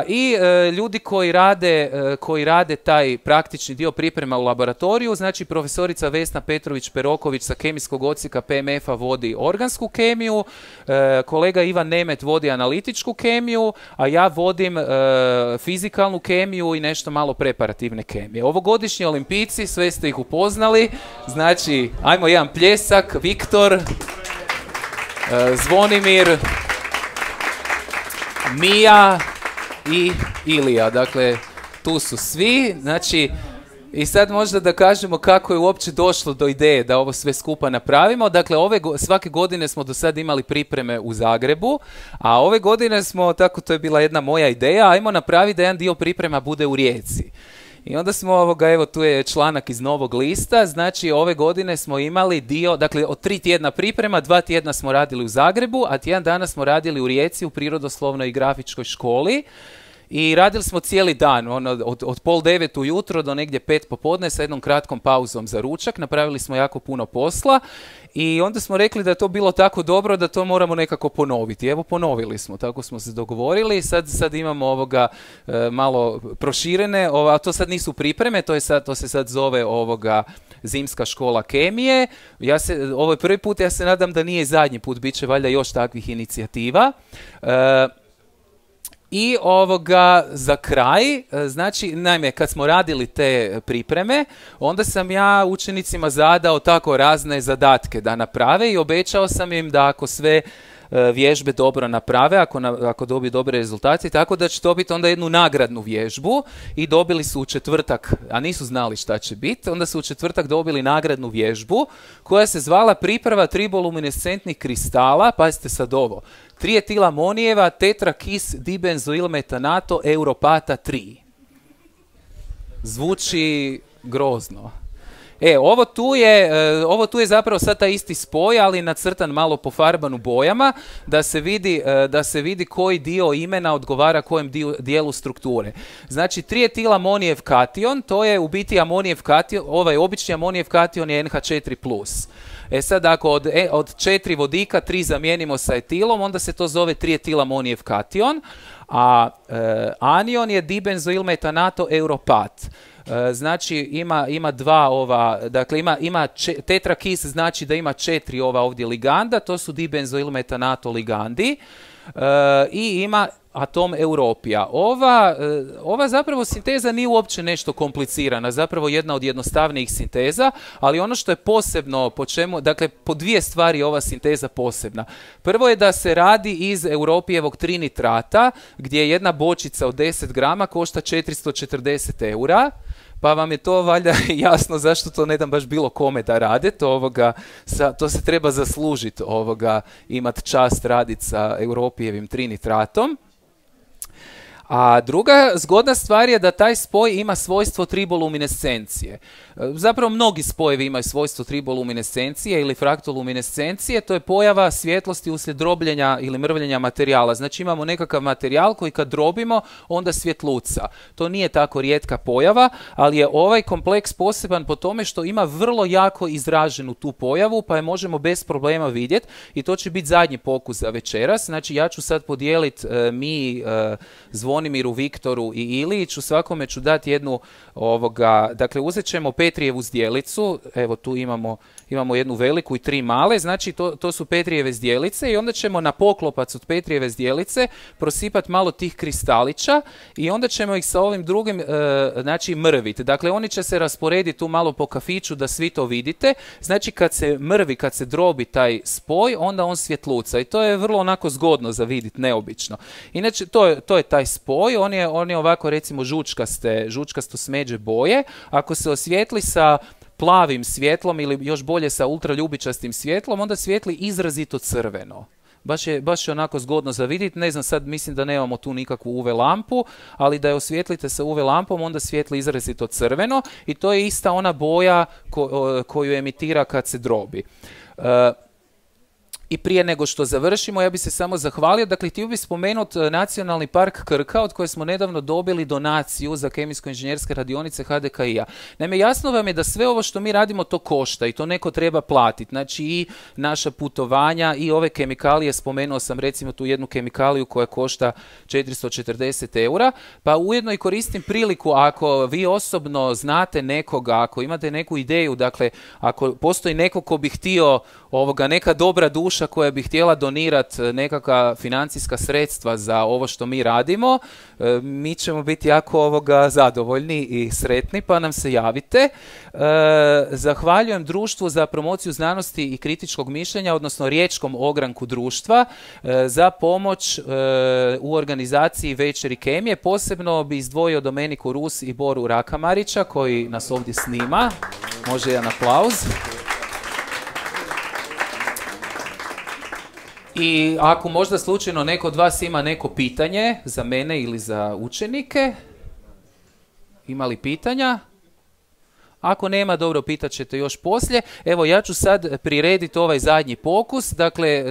I ljudi koji rade taj praktični dio priprema u laboratoriju, znači profesorica Vesna Petrović-Peroković sa Kemijskog odsjeka PMF-a vodi organsku kemiju, kolega Ivan Nemet vodi analitičku kemiju, a ja vodim fizikalnu kemiju i nešto malo preparativne kemije. Ovogodišnji olimpijci, sve ste ih upoznali, znači, ajmo jedan pljesak, Viktor, Zvonimir, Mija i Ilija. Dakle, tu su svi. Znači, I sad možda da kažemo kako je uopće došlo do ideje da ovo sve skupa napravimo. Dakle, svake godine smo do sad imali pripreme u Zagrebu, a ove godine smo, tako to je bila jedna moja ideja, ajmo napraviti da jedan dio priprema bude u Rijeci. I onda smo, evo tu je članak iz Novog lista, znači ove godine smo imali dio, dakle od 3 tjedna priprema, 2 tjedna smo radili u Zagrebu, a tjedan dana smo radili u Rijeci u Prirodoslovnoj i grafičkoj školi. I radili smo cijeli dan, od 8:30 ujutro do negdje 5 popodne sa jednom kratkom pauzom za ručak. Napravili smo jako puno posla i onda smo rekli da je to bilo tako dobro da to moramo nekako ponoviti. Evo, ponovili smo, tako smo se dogovorili. Sad imamo malo proširene, a to sad nisu pripreme, to se sad zove Zimska škola kemije. Ovo je prvi put, ja se nadam da nije zadnji put, bit će valjda još takvih inicijativa. I za kraj, znači, naime, kad smo radili te pripreme, onda sam ja učenicima zadao tako razne zadatke da naprave i obećao sam im da ako sve vježbe dobro naprave, ako dobiju dobre rezultate, tako da će dobiti onda jednu nagradnu vježbu i dobili su u četvrtak, a nisu znali šta će biti, onda su u četvrtak dobili nagradnu vježbu koja se zvala priprava triboluminescentnih kristala, pazite sad ovo, trietilamonijeva tetrakis dibenzoilmetanato europata 3. Zvuči grozno. Ovo tu je zapravo sad taj isti spoj, ali nacrtan malo pofarban u bojama, da se vidi koji dio imena odgovara kojem dijelu strukture. Znači, trietilamonijev kation, to je u biti amonijev kation, ovaj obični amonijev kation je NH4+. Sad, ako od 4 vodika 3 zamijenimo sa etilom, onda se to zove trietilamonijev kation, a anion je dibenzoilmetanato europat. Znači ima dakle ima tetrakis, znači da ima 4 ovdje liganda, to su dibenzoilmetanato ligandi, i ima atom europija. Ova zapravo sinteza nije uopće nešto komplicirana, zapravo jedna od jednostavnijih sinteza, ali ono što je posebno, dakle po 2 stvari je ova sinteza posebna. Prvo je da se radi iz europijevog trinitrata, gdje jedna bočica od 10 grama košta 440 eura, pa vam je to valjda jasno zašto to ne dam baš bilo kome da rade, to se treba zaslužiti imat čast raditi sa europijevim trinitratom. A druga zgodna stvar je da taj spoj ima svojstvo triboluminescencije. Zapravo mnogi spojevi imaju svojstvo triboluminescencije ili fraktoluminescencije, to je pojava svjetlosti uslijed drobljenja ili mrvljenja materijala. Znači imamo nekakav materijal koji kad drobimo onda svjetluca. To nije tako rijetka pojava, ali je ovaj kompleks poseban po tome što ima vrlo jako izraženu tu pojavu, pa je možemo bez problema vidjeti i to će biti zadnji pokus za večeras. Znači ja ću sad podijeliti Zvonimiru, Viktoru i Iliću, svakome ću dati jednu, dakle uzet ćemo Petrijevu zdjelicu, evo tu imamo jednu veliku i 3 male, znači to su Petrijeve zdjelice i onda ćemo na poklopac od Petrijeve zdjelice prosipati malo tih kristalića i onda ćemo ih sa ovim drugim, znači mrviti. Dakle, oni će se rasporediti tu malo po kafiću da svi to vidite, znači kad se drobi taj spoj, onda on svjetluca i to je vrlo onako zgodno za vidjeti, neobično. Inače, to je taj spoj, on je ovako recimo žučkasto smeđe boje, ako se osvijetli sa plavim svjetlom ili još bolje sa ultraljubičastim svjetlom, onda svijetli izrazito crveno. Baš je onako zgodno za vidjeti, ne znam, sad mislim da nemamo tu nikakvu UV lampu, ali da je osvijetlite sa UV lampom, onda svijetli izrazito crveno i to je ista ona boja koju emitira kad se drobi. I prije nego što završimo, ja bih se samo zahvalio. Dakle, htio bih spomenuti Nacionalni park Krka, od koje smo nedavno dobili donaciju za kemijsko-inženjerske radionice HDKI-a. Naime, jasno vam je da sve ovo što mi radimo to košta i to neko treba platiti. Znači i naša putovanja i ove kemikalije, spomenuo sam recimo tu jednu kemikaliju koja košta 440 eura, pa ujedno i koristim priliku ako vi osobno znate nekoga, ako imate neku ideju, dakle, ako postoji neko ko bi htio neka dobra duša koja bi htjela donirati nekakva financijska sredstva za ovo što mi radimo, mi ćemo biti jako zadovoljni i sretni, pa nam se javite. Zahvaljujem Društvu za promociju znanosti i kritičkog mišljenja, odnosno Riječkom ogranku društva, za pomoć u organizaciji Večeri kemije. Posebno bi izdvojio Domeniku Rus i Boru Rakamarića koji nas ovdje snima. Može jedan aplauz. I ako možda slučajno neko od vas ima neko pitanje za mene ili za učenike, ima li pitanja? Ako nema, dobro, pitat ćete još poslije. Evo, ja ću sad prirediti ovaj zadnji pokus. Dakle,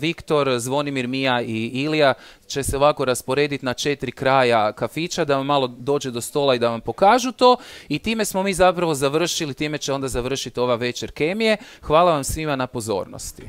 Viktor, Zvonimir, Mija i Ilija će se ovako rasporediti na 4 kraja kafića da vam malo dođe do stola i da vam pokažu to. I time smo mi zapravo završili, time će onda završiti ova večer kemije. Hvala vam svima na pozornosti.